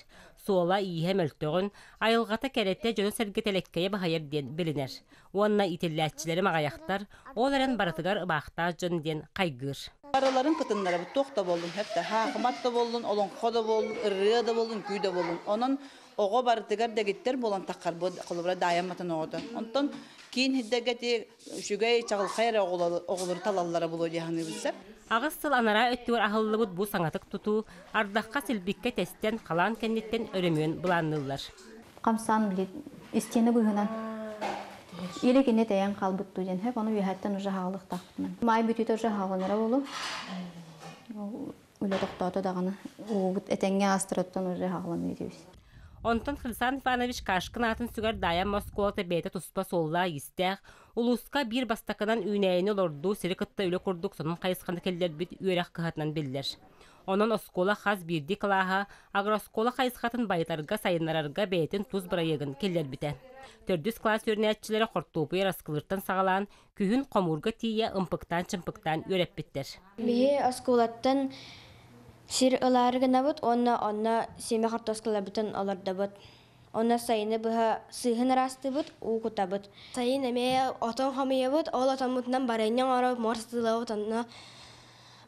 Суола ииһэ мөлтөҕүн, айылҕата кэрэтэ дьону-сэргэ тэлэккэйэ баһыйар диэн билинэр. Уонна иитиллээччилэри маҕайахтар, ол эрэн барытыгар ыбаахтаах дьон диэн хайгыыр. Барыларын кытыннарабыт туох да буоллун, хэп хаахымат да буоллун, олоҥхо да буоллун, ырыа да буоллун, күү да буоллун. Онон оҕо барытыгар дэгиттэр буолан таххар бу холобура Даайа Амматын оҕото. Онтон киин сирдэргэ үчүгэй чаҕылхай эрэ оҕолору талаллара буолуо дии саныыбын сөп. Аҕыс сыл анараа өттүгэр аһыллыбыт бу саҥатык тутуу ардахха силбиккэ тэстэн халаан кэнниттэн өрөмүөн былаанныыллар. Хамсаан билит истиэнэ быһынан или кине тэйэн хаалбыт дуу диэн хэп ону үөһэттэн уже хаалыктаахпытынан. Маай бүтүүтэ уже хааланара буолу. Үлэ тохтоото даҕаны уубут этэҥҥэ аастырыттан уже хааланыы диэбис. Онтон Хрисан Иванович Кашкин аатын сүгэр Даайа Амма оскуолата бэйэтэ туспа суоллаах иистээх, улууска биир бастакынан үүнээйини олордуу сири кытта үлэ курдук сонун хайысханы киллэрбит үөрэх кыһатынан биллэр. Онон оскуола хас биирдии кылааһа агрооскуола хайысхатын байытарга сайыннарарга бэйэтин тус бырайыагын киллэрбитэ. Төрдүс класс үөрэнээччилэрэ хортуопуй араскылыыртан саҕалаан, күһүн хомуурга тиийэ ымпыктаан-чымпыктаан үөрэппиттэр. Биһи оскуолаттан сир ылаары гынабыт уонна онно сиэмэ хортуоскаларбытын олордобут. Онно сайыны быһа сыыһын ыраастыыбыт, уу кутабыт. Сайын эмиэ отон хомуйабыт, ол отоммутунан барыанньа оҥоробут, муор сытыылабыт, онно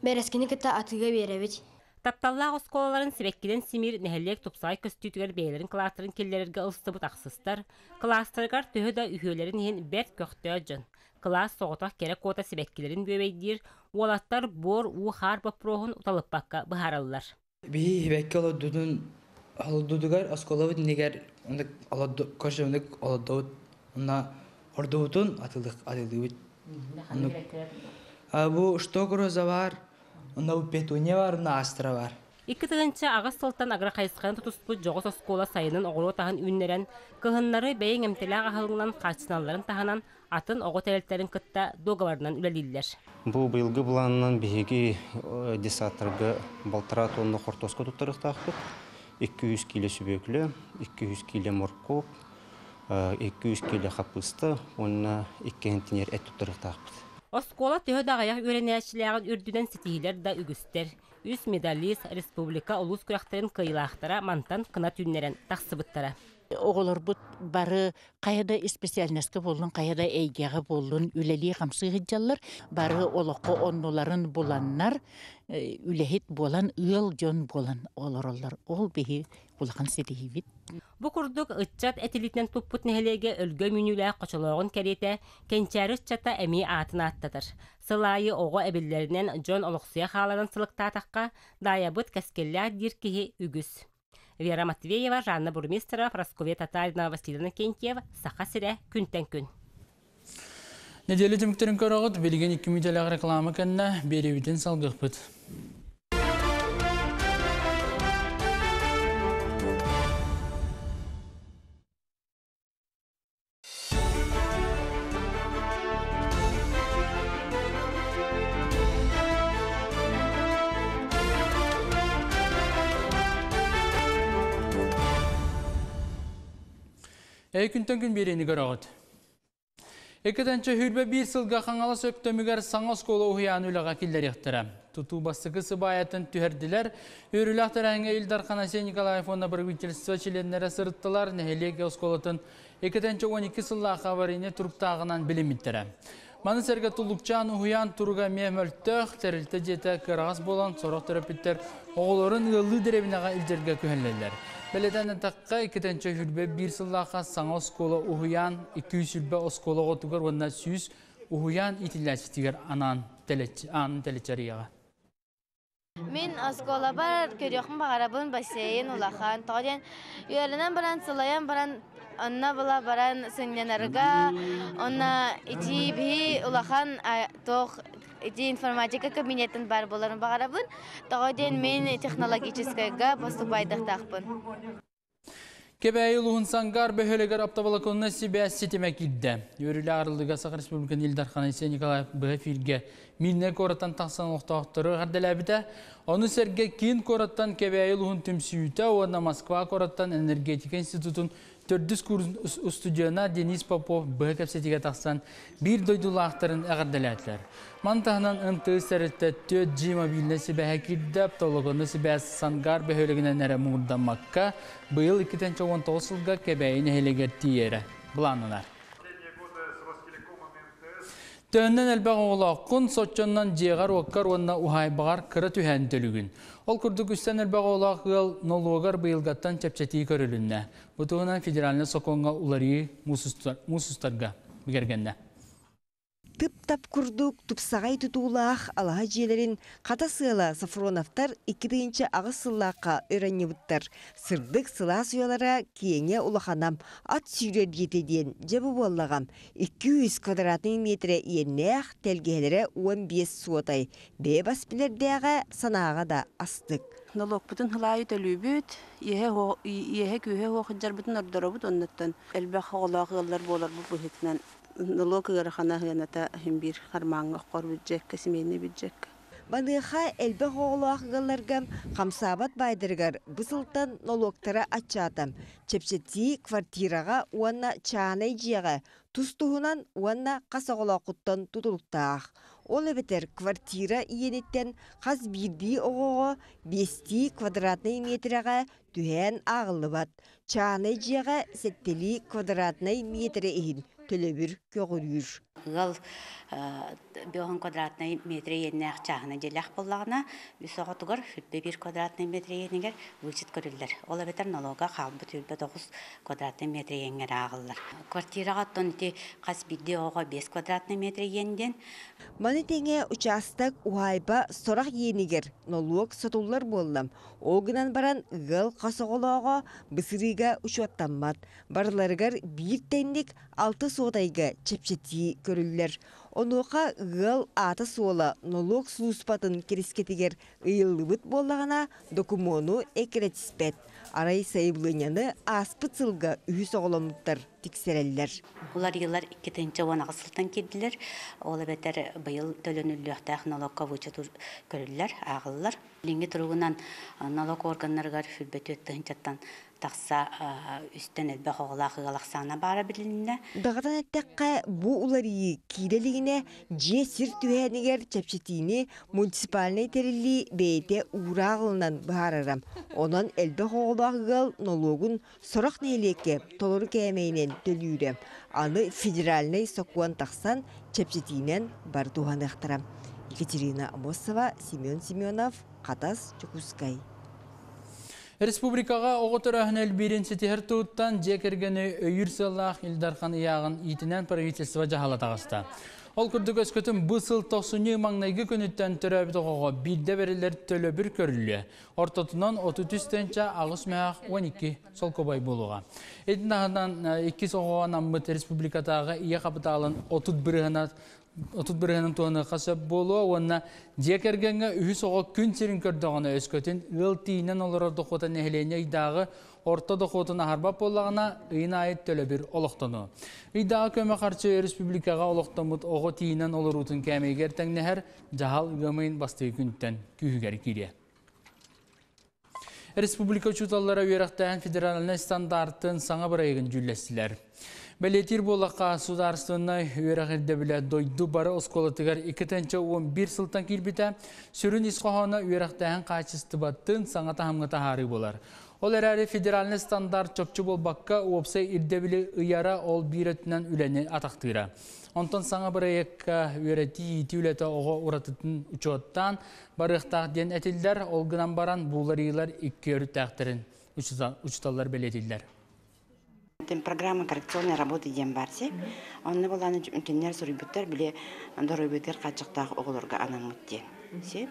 бэрэскини кытта атыыга биэрэбит. Тапталлаах оскуолаларын сибэккинэн симиир нэһилиэк тупсаҕай көстүүтүгэр бэйэлэрин кылаастарын киллэрэргэ ылсыбыт ахсыстар, кылаастарыгар төһө да үһүөлэрин иһин бэрт көхтөөх дьон. Кылаас соҕотох кэрэ куота сибэккилэрин бүөбэйдиир, уолаттар буор уу хаар боппуруоһун уталыппакка быһаараллар. Биһи сибэкки олордутун олордутугар оскуолабыт иннигэр оннук олорду көрсө оннук олордубут. Онно ордубутун атылык атылыыбыт. Оннук бу шток роза бар, онно бу петуния бар, онно астра бар. Икки тыһыынча аҕыс сылтан агрохайысханы тутуспут дьоҕус оскуола сайынын оҕуруот аһын үүннэрэн, кыһыннары бэйэҥ эмтэлээх аһылыгынан хааччыналларын таһынан атын оҕо тэрилтэлэрин кытта дуогабарынан үлэлииллэр. Бу быйылгы былаанынан биһиги детсадтарга балтараа тонна хортуоска туттарыахтаахпыт. икки жүз кило сүбүөкүлэ, икки жүз кило моркуоп, икки жүз кило хапыста уонна икки контейнер эт туттарыахтаахпыт. Оскуола төһө да аҕыйах үөрэнээччилээҕин үрдүнэн ситиһиилэр да үгүстэр. Үс медалист республика улуус күрэхтэрин кыайыылаахтара мантан кынат үүннэрэн тахсыбыттара. Оҕолорбут бары хайа да специальноска буоллун, хайа да эйгэҕэ буоллун үлэлии хамсыы сылдьаллар. Бары олоххо оннуларын буланнар, үлэһит буолан, ыал дьон буолан олороллор. Ол биһи улахан ситиһиибит. Бу курдук ыччат этилитинэн туппут нэһилиэгэ өлгөм үүнүүлээх хочолооҕун кэриэтэ кэнчээри ыччата эмиэ аатын ааттатар. Сыл аайы оҕо эбиллэринэн дьон олохсуйа хааларын сылыктаатахха, даайабыт кэскиллээх диир киһи үгүс. Вера Матвеева, Жанна Бурмистрова, Прасковья Татаринова, Василина Кентьева, Саха сирэ, күнтэн күн. Неделя түмүктэрин көрөҕүт, билигин икки мүнүүтэлээх реклама кэннэ биэриибитин салгыахпыт. Эй күнтэн күн биэриини көрөҕүт. Эккетенче хүрбе бир сылга Хаҥалас Өктөмүгэр саҥа оскуола уһуйаан үлэҕэ киллэриэхтэрэ. Тутуу бастакы сыбаайатын түһэрдилэр. Үөрүүлээх тэрээһиҥҥэ Ил Дархан Айсен Николаев уонна правительство чилиэннэрэ сырыттылар. Нэһилиэк оскуолатын эккетенче он икки сыллаах аварийный туруктааҕынан билиммиттэрэ. Маны сэргэ Туллукчаан уһуйаан туруга эмиэ мөлтөх, тэрилтэ дьиэтэ кыараҕас буолан сорох төрөппүттэр оҕолорун ыаллыы дэриэбинэҕэ илдьэргэ күһэллэллэр. Бэлэтэн эттэххэ, иккитенче хүрбэ биир сыллаахха саҥа оскуола уһуйаан икки жүз сүрбэ оскуола оҕотугар уонна сүүс уһуйаан иитиллээччитигэр анаан тэлэччэрийэҕэ. Мин оскуолабар көрүөхпүн баҕарабын, бассейн улахан. Тоҕо диэн үөрэнэн баран, сылайан баран, онно була баран сынньанарга, онно ити биһи улахан туох ити информатика кабинетын бар буоларын баҕарабын. Тоҕо диэн мин технологическайга поступайдахтаахпын. Кэбээйи улуһун Сангар бөһүөлэгэр оптоволоконнай сибээс ситимэ киирдэ. Үөрүүлээх арыллыыга Саха Республикатын Ил Дархана Айсен Николаев быһа эфиргэ Миирнэй куораттан тахсан олохтоохтору эҕэрдэлээбитэ. Ону сэргэ киин куораттан Кэбээйи улуһун түмсүүтэ уонна Москва куораттан энергетика институтун төрдүс курс устудьуона Денис Попов быһа кэпсэтиигэ тахсан биир дойдулаахтарын эҕэрдэлээтилэр. Маны таһынан эн тэ эс тэрилтэ түөрт джи мобильнай сибээһэ киирдэ, оптоволоконнай сибээс Сангар бөһүөлэгинэн эрэ муҥурдаммакка, быйыл икки тыһыынча уон тоҕус сылга Кэбээйи нэһилиэгэр тиийэрэ былааннанар. Төһөннөн элбэх оҕолооххун, соччоннон дьиэҕэр-уоккар уонна уһаайбаҕар кыра түһээн төлүгүн. Ол курдук үстэн элбэх оҕолоох ыал нолуогар быйылгаттан чэпчэтии көрүлүннэ. Бу туһунан федеральнай сокуоҥҥа уларыйыы муус устарга бигэргэннэ. Тып-тап курдук тупсаҕай тутуулаах алаһа дьиэлэрин хата сыала Софроновтар икки тыһыынча аҕыс сыллаахха ыранньыбыттар. Сырдык сылаас уйалара киэҥэ улаханам, ат сүүрэр диэтэ диэн дьэ бу буоллаҕам. икки жүз квадратный метрэ иэннээх, тэлгэһэлэрэ уон биэс суотай. Бэйэ бас билэрдээҕэ санааҕа да астык. Нолуокпутун хылаайы төлүүбүт, иэһэ күүһэ хуохыдьарбытын ордоробут, оннуттан элбэх оҕолоох ыаллар буоларбыт быһыытынан нолуок ыарахана ыаната иһин биир хармааҥҥа оххор бюджекка, семейный бюджекка. Маныаха элбэх оҕолоох ыалларга хамсаабат баайдарыгар бу сылтан нолуоктара аччаата. Чэпчэтии квартираҕа уонна чаанай дьиэҕэ тус-туһунан уонна хас оҕолооххуттан тутулуктаах. Ол эбэтэр квартира иэниттэн хас биирдии оҕоҕо биэстии квадратнай метрэҕэ түһээн ааҕыллыбат. Чаанай дьиэҕэ сэттэлии квадратнай метрэ иһин төлөбүр көҕүрүүр. Ыал биэс квадратнай метр иэннээх чааһына дьиэлээх буоллаҕына, үс оҕотугар сүүрбэ биир квадратнай метр иэнигэр вычет көрүллэр. Ол эбэтэр налога хаалбыт сүүрбэ тоҕус квадратнай метр иэҥҥэр ааҕыллар. Квартираҕа оттон ити хас биирдии оҕо биэс квадратнай метр иэн диэн. Маны тэҥэ учаастак уһаайба сорох иэнигэр нолуок сотуллар буоллам. Ол гынан баран ыал хас оҕолооҕо бысырыыга учуоттаммат. Барыларыгар биир тэнник алты суотайга чэпчэтии көрүллэр. Онуоха ыал аата-суола нолуок сулууспатын кэрискэтигэр ыйыллыбыт буоллаҕына, докумуону эккирэтиспэт. Арай сайабылыанньаны ааспыт сылга үһүс оҕоломмуттар тиксэрэллэр. Уларыйыылар икки тыһыынча уон аҕыс сылтан киирдилэр. Ол эбэтэр быйыл төлөнүллүөхтээх нолуокка вычет көрүллэр, ааҕыллар. Билиҥҥи туругунан нолуок органнарыгар сүүрбэ түөрт тыһыынчаттан тахса үстэн элбэх оҕолоох ыал ахсаана баара билиннэ. Даҕатан эттэххэ, бу уларыйыы киирэ илигинэ дьиэ сир түһээнигэр чэпчэтиини муниципальнай тэриллии бэйэтэ уураах ылынан быһаарара. Онон элбэх оҕолоох ыал нолуогун сорох нэһилиэккэ толору кээмэйинэн төлүүрэ. Аны федеральнай сокуон тахсан чэпчэтиинэн бары туһаныахтара. Екатерина Амосова, Семен Семенов, Хатас, Дьокуускай. Республикаҕа оҕо төрөөһүнэ элбиирин ситиһэр туһуттан дьиэ кэргэни өйүүр сыаллаах Ил Дархан ыйааҕын иитинэн правительство дьаһала таҕыста. Ол курдук өскөтүн бу сыл тохсунньу маҥнайгы күнүттэн төрөөбүт оҕоҕо биирдэ бэриллэр төлөбүр көрүллүө. Ортотунан отут үс тыһыынча аҕыс мөһөөх уон икки солкуобай буолуоҕа. Итини таһынан иккис оҕоҕо анаммыт республикатааҕы ийэ хапытаалын отут бырыһыана отут бырыһыанын туһаныахха сөп буолуо уонна дьиэ кэргэҥҥэ үһүс оҕо күн сирин көрдөҕүнэ өскөтүн ыал тиийинэн олорор дохуота нэһилиэнньэ ыйдааҕы орто дохуотун аһарбат буоллаҕына ыйын аайы төлөбүр олохтонуо. Ыйдааҕы көмө харчы республикаҕа олохтоммут оҕо тиийинэн олоруутун кээмэйигэр тэҥнэһэр дьаһал ыам ыйын бастакы күнтэн күүһүгэр киириэ. Республика учууталлара үөрэхтээһин федеральнай стандартын саҥа бырайыагын дьүүллэстилэр. Бэлиэтиир буоллахха, судаарыстыбаннай үөрэх ирдэбилэ дойду бары оскуолатыгар икки тыһыынча уон биир сылтан киирбитэ. Сүрүн ис хоһооно үөрэхтээһин хаачыстыбатын саҥа таһымҥа таһаарыы буолар. Ол эрээри федеральнай стандарт чопчу буолбакка уопсай ирдэбили ыйара ол биир өттүнэн үлэни атахтыыра. Онтон саҥа бырайыакка үөрэтии иитии үлэтэ оҕо уратытын учуоттаан барыахтаах диэн этиллэр, ол гынан баран бу уларыйыылар икки өрүттээхтэрин учууталлар бэлиэтииллэр. Программа коррекционной работы диэн баар дии. Онно буоллаҕына кинилэр суруйбуттар били доруобуйатыгар хааччахтаах оҕолорго анаммыт диэн. Сөп.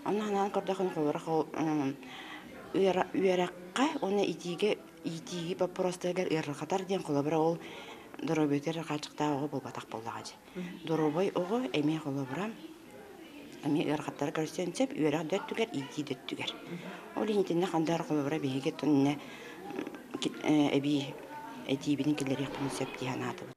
Онно анаан көрдөххүнэ холобура үөрэххэ уонна итиигэ иитииги боппуруостарыгар ыарырҕатар диэн холобура ол доруобуйатыгар хааччахтаах оҕо буолбатах буоллаҕа дии. Доруобай оҕо эмиэ холобура эмиэ ыарахаттары көрсөн сөп үөрэх да өттүгэр, иитии да өттүгэр. Ол иһин итиннэ хандар холобура биһиги тонне эбии этиибитин киллэриэхпитин сөп дии санаатыбыт.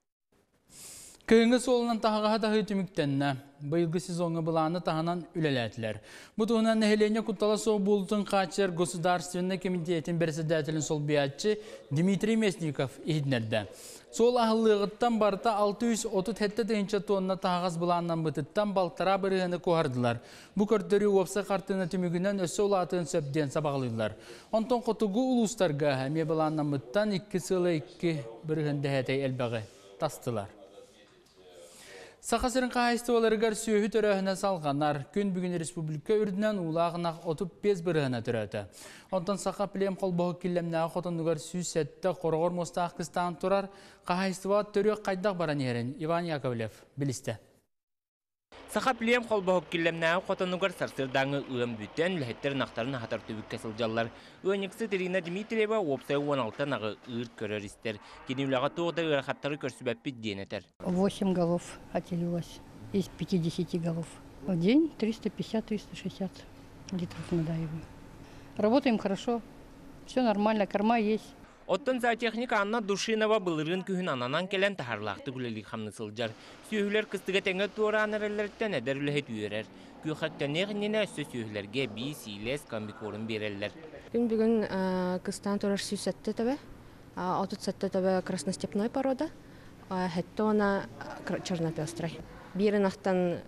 Кыһыҥҥы суолунан таһаҕаһы таһыы түмүктэннэ. Быйылгы сезоҥҥа былааны таһынан үлэлээтилэр. Бу туһунан нэһилиэнньэ куттала суох буолуутун хааччыйар Государственнай комитетин председателин солбуйааччы Дмитрий Местников иһитиннэрдэ. Суол аһыллыаҕыттан барыта алта сүүс отут сэттэ тыһыынча тонна таһаҕас былааннаммытыттан балтараа бырыһыаны куоһардылар. Бу көрдөрүү уопсай хартыына түмүгүнэн өссө улаатыан сөп диэн сабаҕалыыллар. Онтон хотугу улуустарга эмиэ былааннаммыттан икки сыла икки бырыһыан дэһээтэй элбэҕи тастылар. Саха сирин хаһаайыстыбаларыгар сүөһү төрөөһүнэ салҕанар. Күн бүгүн республика үрдүнэн уулаах ынах отут биэс бырыһыана төрөөтө. Онтон Саха плем холбоһук Киллэмнээҕи хотонугар сүүс сэттэ хороҕор муостаах кыстаан турар. Хаһаайыстыба төрүөх хайдах баран иһэрин Иван Яковлев билистэ. Саха плем холбоһук Киллэмнээҕи хотонугар сарсыардааҥы ыам бүтэн, үлэһиттэр ынахтарын аһатар түбүккэ сылдьаллар. Ыанньыксыт Ирина Дмитриева уопсай уон алта ынаҕы ыыр көрөр истэр. Кини үлэҕэ туох да ыарахаттары көрсүбэппит диэн этэр. Восемь голов отелилось из пятидесяти голов. В день триста пятьдесят — триста шестьдесят литров надаиваем. Работаем хорошо, все нормально, корма есть. Оттон зоотехник Анна Душинова былырыын күһүн ананан кэлэн таһаарыылаахтык үлэлии хамныы сылдьар. Сүөһүлэр кыстыгы этэҥҥэ туораан эрэллэриттэн эдэр үлэһит үөрэр. Күөхэттэннээх иннинэ өссө сүөһүлэргэ эбии сиилэс комбикорм биэрэллэр. Күн бүгүн кыстаан турар сүүс сэттэ төбө, отут сэттэ төбө красностепной порода, сэттэ уона чернопестрый. Биир ынахтан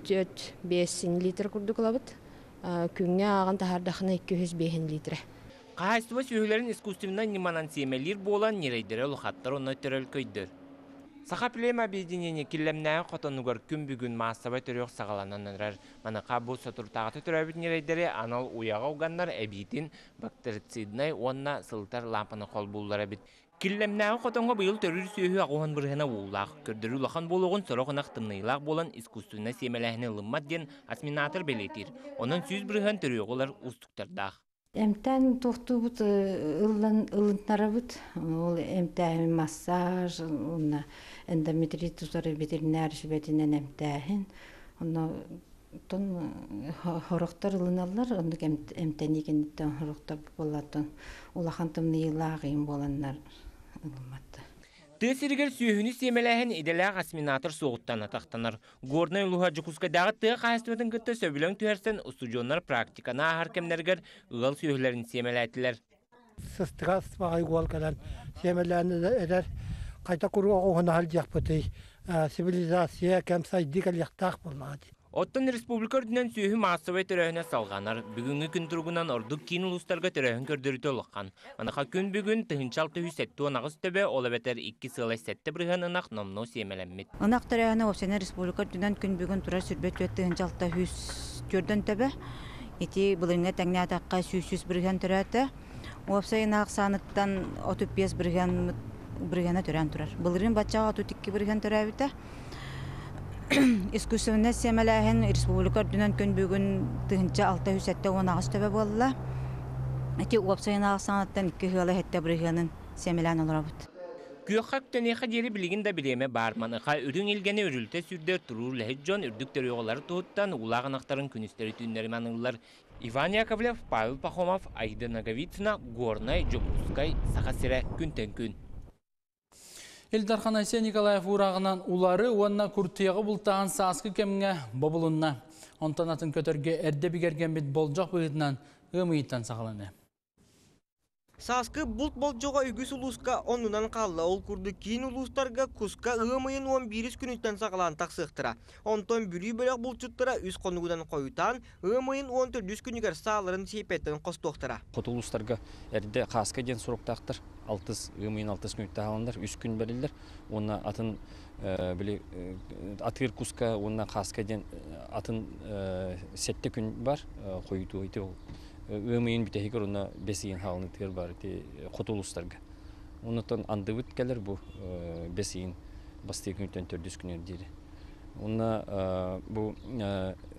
түөрт биэс литр курдук ылабыт. Күҥҥэ ааҕан таһаардаххына икки сүүс биэс литр. Хаһаайыстыба сүөһүлэрин искусственнай ньыманан сиэмэлиир буолан ньирэйдэрэ улахаттар онно төрөлкөйдөр. Саха плем объединение Киллэмнээҕи хотонугар күн бүгүн маассабай төрүөх саҕаланан эрэр. Маныаха бу соторутааҕыта төрөөбүт ньирэйдэри анал уйаҕа уганнар эбиитин бактерициднай уонна сылытар лаампаны холбууллар эбит. Киллэмнээҕи хотоҥҥо быйыл төрүүр сүөһү аҕыс уон бырыһыана уулаах. Көрдөрүү улахан буолуоҕун сорох ынах тымныйыылаах буолан искусственнай сиэмэлээһини ылыммат диэн осеменатор бэлиэтиир. Онон сүүс бырыһыан төрүөҕү ылар уустуктардаах. Эмтэн тохтубут ыллан ылыннарабыт. Ол эмтээһин массаж, уонна эндометрит тутары ветеринар сүбэтинэн эмтээһин. Онно тон хорохтор ылыналлар, оннук эмтэнии кэнниттэн хорохтор буоллаттан улахан тымныйыылаах ыйым буоланнар ылымматтар. Тыа сиригэр сүөһүнү сиэмэлээһин идэлээх осеменатор суоҕуттан атахтанар. Горнай улууһа Дьокуускайдааҕы тыа хаһаайыстыбатын кытта сөбүлэҥ түһэрсэн устудьуоннар практиканы ааһар кэмнэригэр ыал сүөһүлэрин сиэмэлээтилэр. Сыстыгас баҕай уол кэлэн сиэмэлээн эдэр хайта куруох уһунаһал диэхпитий цивилизация кэм сайдыы кэлиэхтээх буоллаҕа дии. Оттон республика үрдүнэн сүөһү маассабай төрөөһүнэ салҕанар. Бүгүҥҥү күн туругунан ордук киин улуустарга төрөөһүн көрдөрүүтэ улахан. Маныаха күн бүгүн тыһыынча алта сүүс сэттэ уон аҕыс төбө, ол эбэтэр икки сыалай сэттэ бырыһыан ынах номнуо сиэмэлэммит. Ынах төрөөһүнэ уопсайынан республика үрдүнэн күн бүгүн турар сүүрбэ түөрт тыһыынча алта сүүс түөртөн төбө. Ити былырыыҥҥа тэҥнээтэххэ сүүс сүүс бырыһыан төрөөтө. Уопсай ынах сааныттан отут биэс бырыһыан бырыһыана төрөөн турар. Былырыын баччаҕа отут икки бырыһыан төрөөбүтэ. Искусственнай сиэмэлээһин республика үрдүнэн күн бүгүн тыһыынча алта сүүс сэттэ уон аҕыс төбө буолла. Ити уопсай ынах сааныттан икки ыала сэттэ бырыһыанын сиэмэлээн олоробут. Күөххэ үктэниэхэ диэри билигин да бириэмэ баар. Маныаха үрүҥ илгэни үрүлтэ сүүрдэр туруур үлэһит дьон үрдүк төрүөҕүлары туһуттан уулаах ынахтарын күнүстэри түүннэри маныыллар. Иван Яковлев, Павел Пахомов, Аида Наговицына, Горнай, Дьокуускай, Саха сирэ, күнтэн күн. Ил Дархан Айсен Николаев уурааҕынан улары уонна куртуйаҕы бултааһын сааскы кэмҥэ бобулунна. Онтон атын көтөргө эрдэ бигэргэммит болдьох быһыытынан ыам ыйыттан саҕаланна. Сааскы булт болдьоҕо үгүс улууска оннунан хаалла. Ол курдук киин улуустарга куска ыам ыйын уон биирис күнүттэн саҕалаан тахсыахтара. Онтон Бүлүү бөлөх булчуттара үс хонугунан хойутаан ыам ыйын уон төрдүс күнүгэр сааларын сиэппэттэн хостуохтара. Хоту улуустарга эрдэ хааска диэн суруктаахтар. Алтыс ыам ыйын алтыс күнүттэн хааланнар, үс күн бэриллэр. Уонна атын били атыыр куска уонна хааска диэн атын сэттэ күн бар хойутуу ити ол. Ыам ыйын бүтэһигэр уонна бэс ыйын хаалынытыгар бар ити хоту улуустарга. Оннуттан андыбыт кэлэр бу бэс ыйын бастыы күнүттэн төрдүс күнүгэр диэри. Уонна бу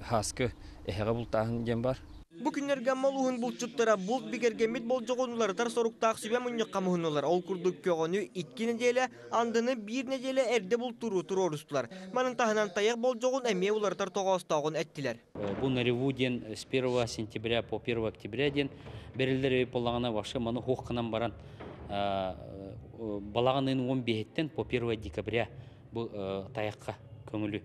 хааскы эһэҕэ бултааһын диэн бар. Бу күннэргэ Амма улууһун булчуттара булт бигэргэммит болдьоҕун уларытар соруктаах сүбэ мунньахха муһуннулар. Ол курдук көҕөнү икки нэдиэлэ, андыны биир нэдиэлэ эрдэ бултууру туруорустулар. Манын таһынан тайах болдьоҕун эмиэ уларытар тоҕоостооҕун эттилэр. Бу нареву диэн с первого сентября по первое октября диэн берилдер боллаҕына вообще маны хуохканан баран балаҕанын он биэһиттэн по первое декабря бу тайахха көҥүлү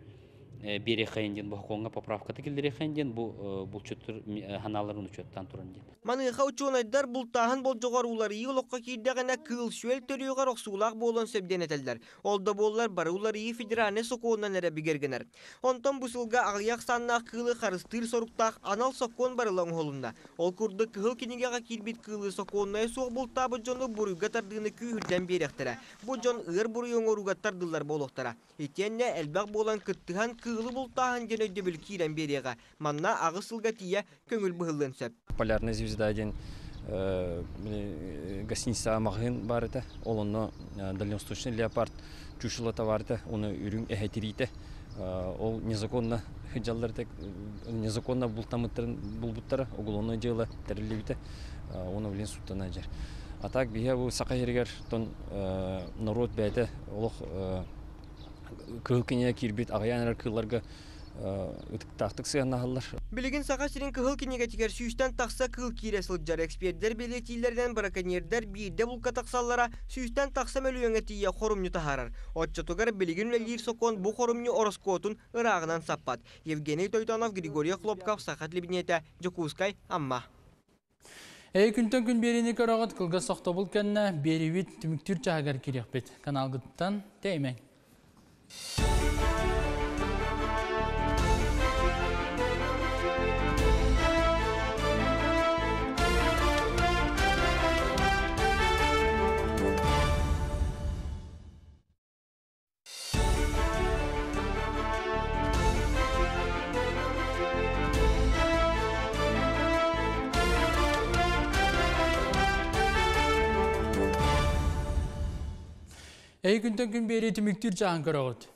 берехайын диэн бохоҥҥа поправката киллерехайын диэн бу булчуттар ханааларын учуоттаан туран диэн. Маныаха учуонайдар бултааһын болдьоҕор уларыйыы олоххо киирдэҕинэ кыыл сүөл төрүөҕэр охсуулаах буолан сөбден этэллэр. Ол да буоллар бары уларыйыы федеральнай сокуонунан эрэ бигэргэнэр. Онтон бу сылга аҕыйах саннаах кыылы харыстыыр соруктаах анал сокуон барыла оҥоһулунна. Ол курдук кыһыл кинигэҕэ киирбит кыылы сокуоннайа суох бултаабыт дьону буруйга тардыыны күүһүрдэн биэриэхтэрэ. Бу дьон ыар буруй оҥорууга тардыллар буолуохтара. Итиэннэ элбэх буолан кыттыһан кыылы бултааһын диэн өйдөбүл киирэн биэриэҕэ. Манна аҕыс сылга тиийэ көҥүл быһыллыан сөп. Полярная звезда диэн гостиница маҕаһыын баар этэ. Ол онно дальневосточный леопард чучелота баар этэ. Оны үрүҥ эһэтириитэ. Ол незаконно дьаллар незаконно бултамыттарын булбуттара, уголовное дело тэриллибитэ. Оны билин суттана жер. А так биһэ бу саха сиригэр тон народ бэйэтэ олох кыһыл кинигэ киирбит аҕыйаан эрэр кыылларга ытыктаахтык сыһыаннаһаллар. Билигин Саха сирин кыһыл кинигэтигэр сүүстэн тахса кыыл киирэ сылдьар. Экспердэр бэлиэтииллэринэн браконьердэр биирдэ булка тахсаллара сүүстэн тахса мөлүйүөҥҥэ тиийэ хорумньу таһаарар. Оччотугар билигин үлэлиир сокуон бу хорумньу ороскуотун ырааҕынан саппат. Евгений Тойтонов, Григорий Хлопков, Саха телевидениетэ, Дьокуускай, Амма. Эй күнтэн күн берини көрөҕөт кылгас сохтобул кэннэ берибит түмүктүүр чаһыгар кириэхпит. Каналгыттан тэймэҥ. Эй күнтэн күн бери түмүктүүр чаһын көрөҕөт.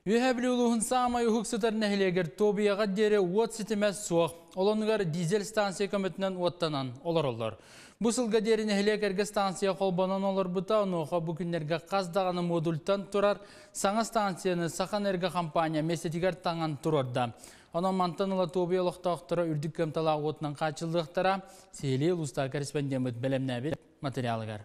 Үөһээ Бүлүү улууһун саамай уһук сытар нэһилиэгэр Тобияға диэри уот ситимэ суох. Олонугар дизель станция көмөтүнэн уоттанан олороллор. Бу сылга диэри нэһилиэк эргэ станция холбонон олорбута, онуоха бу күннэргэ хас даҕаны модультан турар саҥа станцияны Сахаэнерго компания миэстэтигэр таҥан туруорда. Онон мантан ыла Тобия олохтоохторо үрдүк кыамталаах уотунан хааччыллыахтара. Сиһилии улуустааҕы корреспондеммыт бэлэмнээбит материалыгар.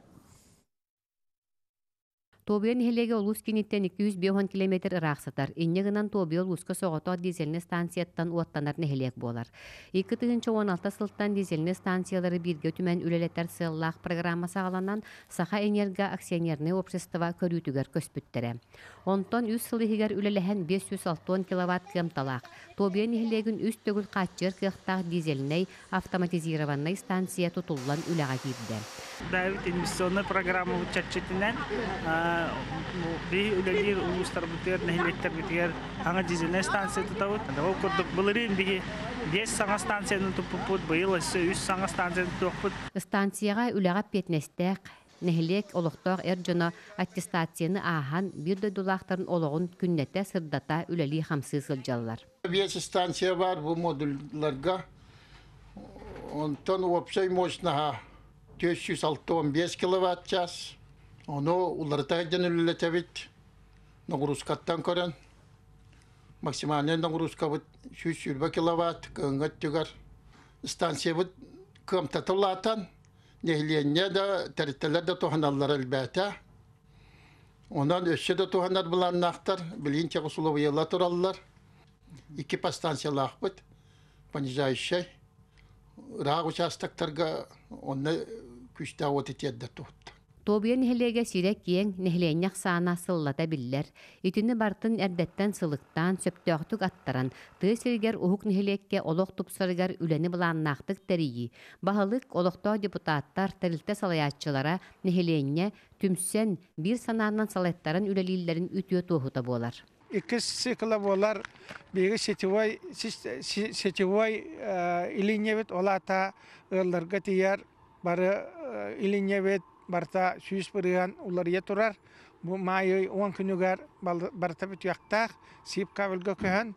Тобия нэһилиэгэ улуус кииниттэн икки сүүс биэс уон километр ыраах сытар. Инньэ гынан Тобия улууска соҕотох дизельнэй станцияттан уоттанар нэһилиэк буолар. Икки тыһыынча уон алта сылтан дизельнэй станциялары бииргэ түмэн үлэлэтэр сыаллаах программа саҕаланан Сахаэнерго акционернай общество көрүүтүгэр көспүттэрэ. Онтон үс сыл иһигэр үлэлэһэн биэс сүүс алта уон киловатт кыамталаах Тобия нэһилиэгин үс төгүл хааччыйар кыахтаах дизельнэй автоматизированнай станция тутуллан үлэҕэ киирдэ. Бэйэбит инвестиционнай программа чэрчитинэн би үлэлиир улуустарбытыгар, нэһилиэктэрбитигэр саҥа дизельнэй станция тутабыт. Ол курдук былырыын биһи биэс саҥа станцияны туппуппут, быйыл өссө үс саҥа станцияны тутуохпут. Станцияҕа үлэҕэ эппиэтинэстээх нэһилиэк олохтоох эр дьоно аттестацияны ааһан биир дойдулаахтарын олоҕун күннэтэ сырдата үлэлии хамсыы сылдьаллар. Биэс станция бар бу модульларга. Онтон общай мощнаха төрт жүз алта он бес киловатт час. Ону уларыта дьэн үлэлэтэбит. Нагрузкаттан көрөн максимальный нагрузкабыт сүүс сүүрбэ киловатт кыһыҥҥа өттүгэр. Станциябыт кыамтатылаатан нэһилиэнньэ да тэрилтэлэр да туһаналлар элбээтэ. Онон өссө да туһанар былааннаахтар билигин чаҕыс тураллар. Икки подстанциялаахпыт понижающай ыраах участоктарга онно күүстээх уоту тиэрдэр туһутта. Тобия нэһилиэгэ сирэ киэҥ, нэһилиэнньэх саана сыллата биллэр. Итини бартын эрдэттэн сылыктаан, сөптөөхтүк аттаран, тыа сиригэр уһук нэһилиэккэ олох тупсарыгар үлэни былааннаахтык тэрийии. Баһылык олохтоох депутаттар, тэрилтэ салайааччылара нэһилиэнньэ түмсэн, биир санаанан салайттарын үлэлииллэрин үтүө туоһута буолар. Иккис цикла буолар биһиги сетевой сетевой илиинньэбит олаата ыалларга тиийэр бары илиинньэбит барта сүүс бырыһан уларыйа турар. Бу маай уон күнүгэр барта бүтүөхтээх сип кабельга көһөн.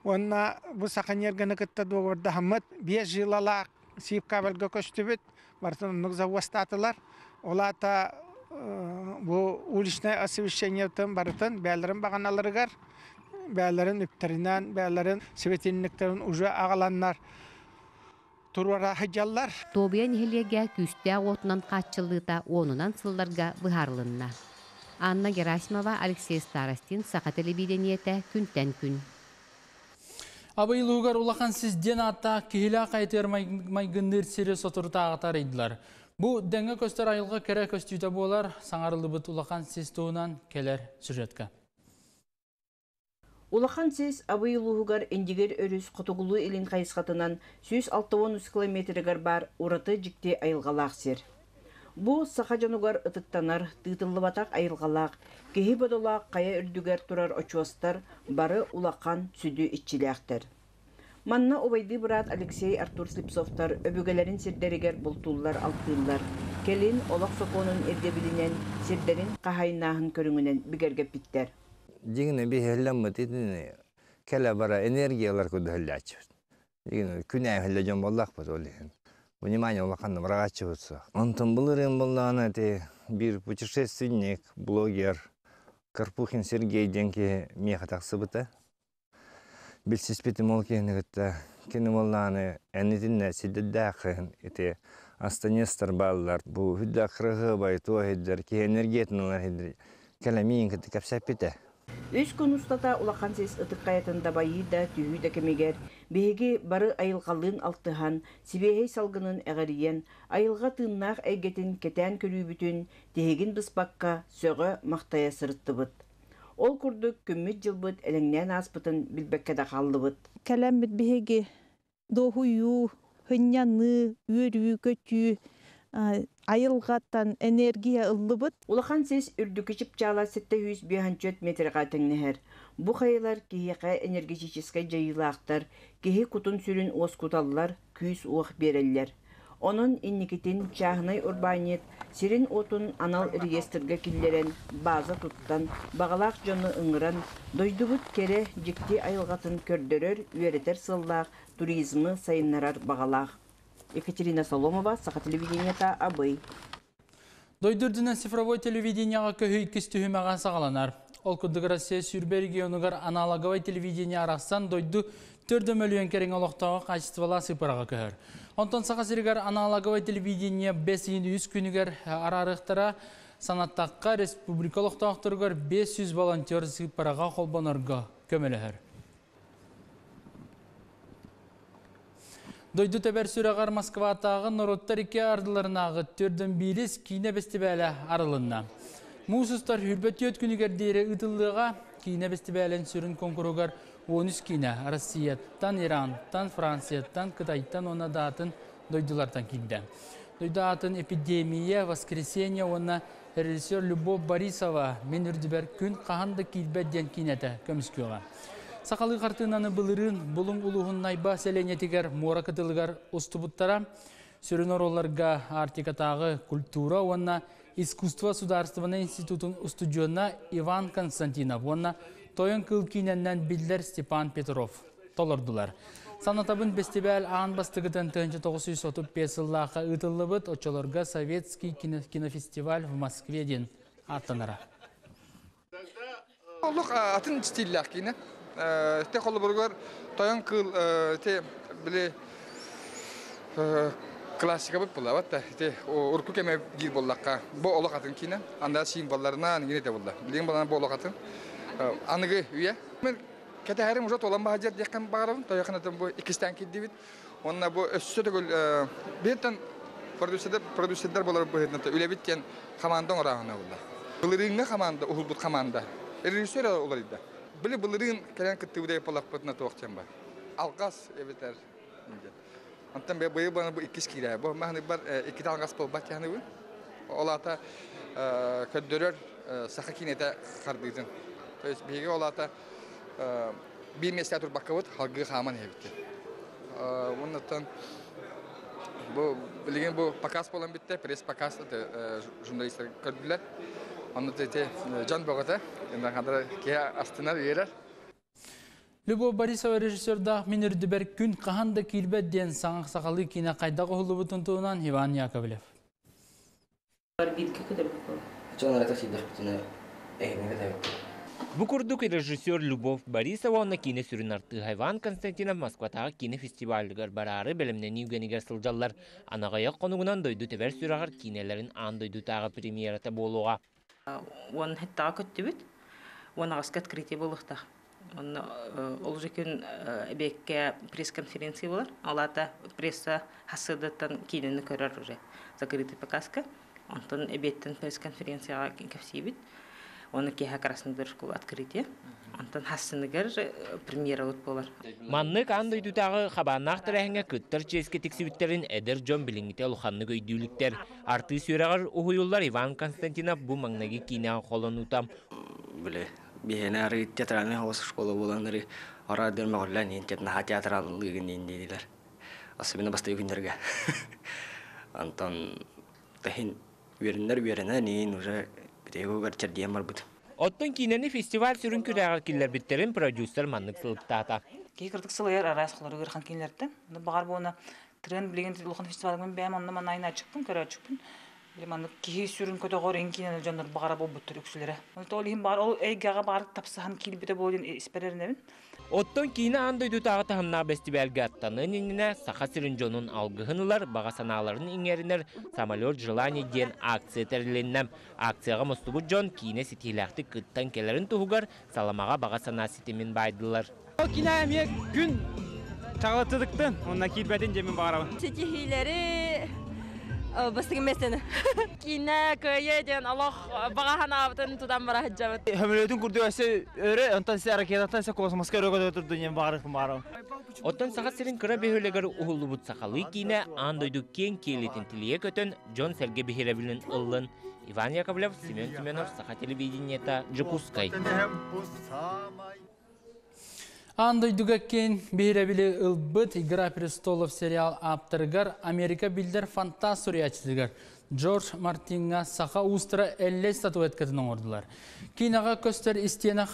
Уонна бу Сахаэнергоны кытта договордаһаммыт биэс жилалаах сип кабельга көстүбүт бартын оннук завозтаатылар. Олаата бу уличное освещениетын барытын бээлэрин бағаналарыгар, бээлэрин үптеринэн, бээлэрин светильниктерин уже аҕаланнар туруора сылдьаллар. Тобия нэһилиэгэ күүстээх уотунан хааччыллыыта уонунан сылларга быһаарылынна. Анна Герасимова, Алексей Старостин, Саха телевидениете, күнтэн күн. Абый улууһугар улахан сис диэн ааттаах киһилээх хайатыгар майгынныыр сири соторутааҕыта арыйдылар. Бу дэҥҥэ көстөр айылҕа кэрэ көстүүтэ буолар, саҥарыллыбыт улахан сис туһунан кэлэр сюжетка. Улахан сис Абый улууһугар Индигир өрүс хотугулуу илин хайысхатынан сүүс алта уон үс километрыгар бар ураты дьикти айылҕалаах сир. Бу саха дьонугар ытыктанар, тыытыллыбатах айылҕалаах, киһи бодолоох хайа үрдүгэр турар очуостар бары улахан сүдү иччилээхтэр. Манна убайдыы быраат Алексей Артур Слепцовтар өбүгэлэрин сирдэригэр бултууллар алтыыллар. Келин олох сокуонун ирдэбилинэн сирдэрин хаһайынааһын көрүҥүнэн бигэргэппиттэр. Дьиҥинэ биһэллэммит итини кэлэ бара энергиялар кудуһэллээччибит. Дьиҥинэ күнээһэллэ дьон буоллахпыт ол иһин. Внимание улаханна барааччыбыт суох. Онтон былырыын буоллаҕына ити биир путешественник, блогер Карпухин Сергей диэн киһи миэхэ тахсыбыта. Билсиспитим ол киһини кытта кини буоллаҕына эннитиннэ сирдэрдээххин ити астанестар бааллар. Бу хүддэ кырыһыбай туох иһиддэр киһи энергиятын ылар иһиддэр кэлэмиин кытта кэпсэппитэ. Үс күн устата улахан сис ытык хайатын дабайыы да түһүү да кэмигэр биһиги бары айылҕалыын алтыһан, сибиэһэй салгынын эҕэрийэн, айылҕа тыыннаах эйгэтин кэтээн көрүүбүтүн тиһигин быспакка сөҕө махтайа сырыттыбыт. Ол курдук күммүт дьылбыт элэҥнээн ааспытын билбэккэ да хааллыбыт. Кэлэммит биһиги дохуйуу, хынньаныы, үөрүү, көтүү, айылҕаттан энергия ыллыбыт. Улахан сис үрдүкү чыпчаала сэттэ сүүс биэс метрга тэҥнэһэр. Бу хайылар киһиэхэ энергетическай дьайыылаахтар, киһи кутун сүрүн уоскуталлар, күүс уох биэрэллэр. Онон инникитин чааһынай урбаанньыт сирин уотун анал реестргэ киллэрэн, база туттан, баҕалаах дьону ыҥыран, дойдубут кэрэ дьикти айылҕатын көрдөрөр, үөрэтэр сыаллаах туризмы сайыннарар баҕалаах. Екатерина Соломова, Саха телевидениета, Абый. Дойду үрдүнэн цифровой телевидениеҕа көһүү иккис түһүмэҕэ саҕаланар. Ол курдук Россия сүүрбэ регионугар аналоговай телевидение арахсан дойду төрт мөлүйүөн кэриҥэ олохтооҕо хаачыстыбалаах сыыппараҕа көһөр. Онтон Саха сиригэр аналоговай телевидение бэс ыйын үс күнүгэр араарыахтара. Санаттахха, республика олохтоохторугар биэс сүүс волонтер сыыппараҕа холбонорго көмөлөһөр. Дойду тэбэр сүрэҕэр Москватааҕы норуоттар икки ардыларынааҕы төрдөн биирис киинэ бэстибээлэ арылынна. Муус устар сүүрбэ түөрт күнүгэр диэри ыытыллыаҕа. Киинэ бэстибээлин сүрүн конкуругар он үс киинэ Россияттан, Ирантан, Францияттан, Кытайтан уонна да атын дойдулартан киирдэ. Дойду атын эпидемия, воскресенье уонна режиссер Любовь Борисова «Мин үрдүбэр күн хаһан да киирбэт» диэн киинэтэ көмүскүөҕэ. Сахалыы хартыынаны былырыын Булуҥ улууһун Найба сэлиэнньэтигэр муора кытылыгар устубуттара. Сүрүн оруолларга Арктикатааҕы культура уонна искусство судаарыстыбаннай институтун устудьуона Иван Константинов уонна Тойон кыыл киинэннэн биллэр Степан Петров толордулар. Санатабын, бэстибээл аан бастакытын тыһыынча тоҕус сүүс отут биэс сыллаахха ыытыллыбыт, оччолорго Советский кинофестиваль в Москве диэн ааттанара. Олох атын стиллээх киинэ. Те холобуругар Тойон кыыл те били классикабыт буолла та те урукку кэме диир буоллахха бу олох атын киинэ. Анда символларынан гине те буолла. Билигин балана бу олох атын. Аныгы үйэ. Мен кэтэһэрим уже толан баһадьар диэххин баҕарабын. Тойоханатын бу иккистэн киирдибит. Онна бу өссө төгүл биртен продюсердер продюсердер болар быһыытынан үлэбит диэн команда оҥорааһына буолла. Былырыыҥҥа команда, уһулбут команда. Режиссер уларыйда. Били былырыын кэлэн кыттыбыт буоллахпытына туох диэн бар. Алгас эбэтэр Онтон быйыл бу иккис киирэ. Бу маһны бар икки алгас буолбат яһны. Ол ата көддөрөр саха киинэтэ хардыытын. То есть биһиги ол ата биир месте турбаккабыт халгыы хааман эбитти. Оннуттан бу билигин бу показ болан битте, пресс показ журналисттер көрдүлэр. Онну те жан богата, инда хадра кия астынар үйерер. Любовь Борисова режиссердаах «Мин үрдүбэр күн хаһан да киирбэт» диэн саҥа сахалыы киинэ хайдах уһуллубутун туһунан Иван Яковлев. Бу курдук режиссер Любовь Борисова онно киинэ сүрүн артыыһа Иван Константинов Москватааҕы киинэ фестивалыгар бараары бэлэмнэнии үгэнигэр сылдьаллар. Анаҕайах хонугунан дойду тэбэр сүрэҕэр киинэлэрин аан дойдутааҕы премьерата буолуоҕа. Уон хэттаҕа көттүбүт, уон аҕыска открытие буолуохтаах. Онно ол уже күн эбиэккэ пресс-конференция болар. Алата пресса хассыдаттан киинэни көрөр уже закрытый показка. Онтон эбиэттэн пресс-конференцияҕа кэпсиибит. Оны киэһэ Красный школа открытие. Онтон хассыныгар премьера вот болар. Маннык аан дойдутааҕы хабааннаах тэрээһиҥҥэ кыттар чиэскэ тиксибиттерин эдэр дьон билиҥҥитэ улаханнык өйдүүлүктэр. Артыыс үөрэҕэр уһуйуллар Иван Константинов бу маҥнайгы киинэҕэ холонуута. Биле биһиэнэ ары театральный хаос школа буолан ары ора дэр мөҕүллэн иин тет наһаа театраллыгын иин диилэр. Особенно бастакы күннэргэ. Антон тэһин үөрэннэр үөрэнэн иин уже битегугар чэрдиэн барбыт. Оттон киинэни фестиваль сүрүн күрээҕэр киллэрбиттерин продюсер маннык сылыктаата. Киһи кырдык сылайар араас холоругар хан кинилэртэн. Баҕар буона трен билигин улахан фестивалгын бэйэм онно манайын ачыкпын көрөөчүкпүн. Маннык киһи сүрүн көтөҕөр эн киинэни дьоннор баҕара буолбуттар үксүлэрэ. Ол иһин баар ол эйгэҕэ баар тапсахан киирбитэ буолун испэрэринэбин. Оттон киинэ аан дойдутааҕы таһымнаах бэстибээлгэ аттанын иннинэ Саха сирин дьонун алгыһын ылар, баҕа санааларын иҥэринэр «Самолет желаний» диэн акция тэрилиннэ. Акцияҕа мустубут дьон киинэ ситиһилээхтик кыттан кэлэрин туһугар саламаҕа баҕа санаа ситимин байдылар. Ол киинэ эмиэ күн чаҕылытыдыктын, онна киирбэтин дьэмин баҕарабын. Ситиһиилэри бастыгы местени. Киинэ кыайы диэн олох баҕа санаабытын тутан бара сылдьабыт. Хөмөлөтүн курдук өссө өрө, онтон сэ ракетаттан сэ космоска өрө көтө турду диэн баҕарыхпын баҕарабын. Оттон Саха сирин кыра бөһүөлэгэр уһуллубут сахалыы киинэ аан дойду киэҥ киэлитин тилийэ көтөн дьон сэргэ биһирэбилин ыллын. Иван Яковлев, Семен Семенов, Саха телевидениета, Дьокуускай. Аан дойдуга киэҥ биһирэбили ылбыт «Игра престолов» сериал ааптарыгар, Америка биллэр фантаст суруйааччытыгар Джордж Мартинга саха уустара Эллэй статуэткатын оҥордулар. Киинэҕэ көстөр истиэнэ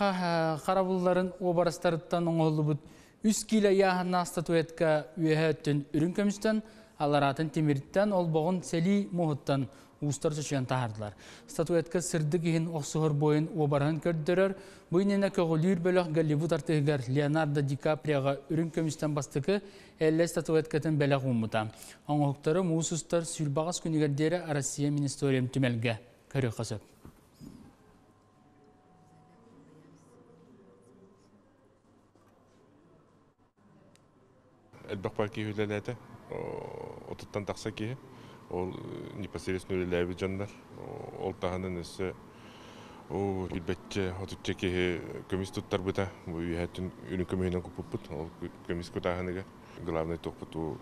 харабылларын уобарастарыттан оҥоһуллубут үс киилэ ыйааһыннаах статуэтка үөһэ өттүн үрүҥ көмүстэн, аллараатын тимиртэн, олбоҕун сэлии муоһуттан уустар чочуйан таһаардылар. Статуэтка сырдык иһин охсуһар буойун уобараһын көрдөрөр. Бу иннинэ көҕүлүүр бөлөх Голливуд артыыһыгар Леонардо Ди Каприоҕа үрүҥ көмүстэн бастакы Эллэй статуэткатын бэлэх ууммута. Оҥоһуктары муус устар сүүрбэ аҕыс күнүгэр диэри Россия Министериум түмэлгэ көрүөххэ сөп. Элбэх бар киһи үлэлээтэ, отуттан тахса киһи. Ол непосредственно үлэлээбит дьоннор. Ол таһынан өссө билбэтчэ отучча киһи көмүс туттарбыта. Бу үөһэттэн үрүҥ көмүһүнэн куппуппут. Ол көмүс кутааһыныгар главный туохпут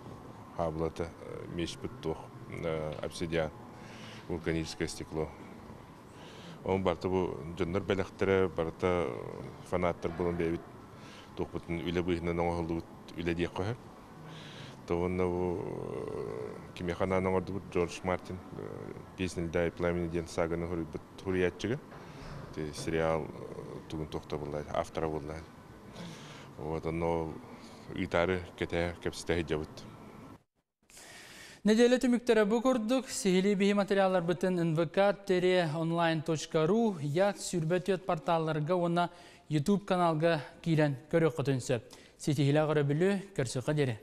хаабылата мечпит туох обсидиан, вулканическое стекло. Ол барыта бу дьоннор бэлэхтэрэ, барыта фанаттар буолан бэйэбит туохпутун үлэ быыһынан оҥоһуллубут үлэ диэххэ сөп. Уонна бу кимиэхэ анаан оҥордубут Джордж Мартин «Песня льда и пламени» диэн саганы суруйбут суруйааччыга. Сериал тугун туохта буолла, автора буолла. Вот онно ыытаары кэтэ кэпсэтэ сылдьабыт. Неделя түмүктэрэ бу курдук. Сиһилии биһи материалларбытын эн вэ ка тире онлайн точка ру, ЯК сүүрбэ түөрт порталларга уонна YouTube каналга киирэн көрүөххүтүн сөп. Ситиһиилээх өрөбүлү, көрсүөххэ диэри.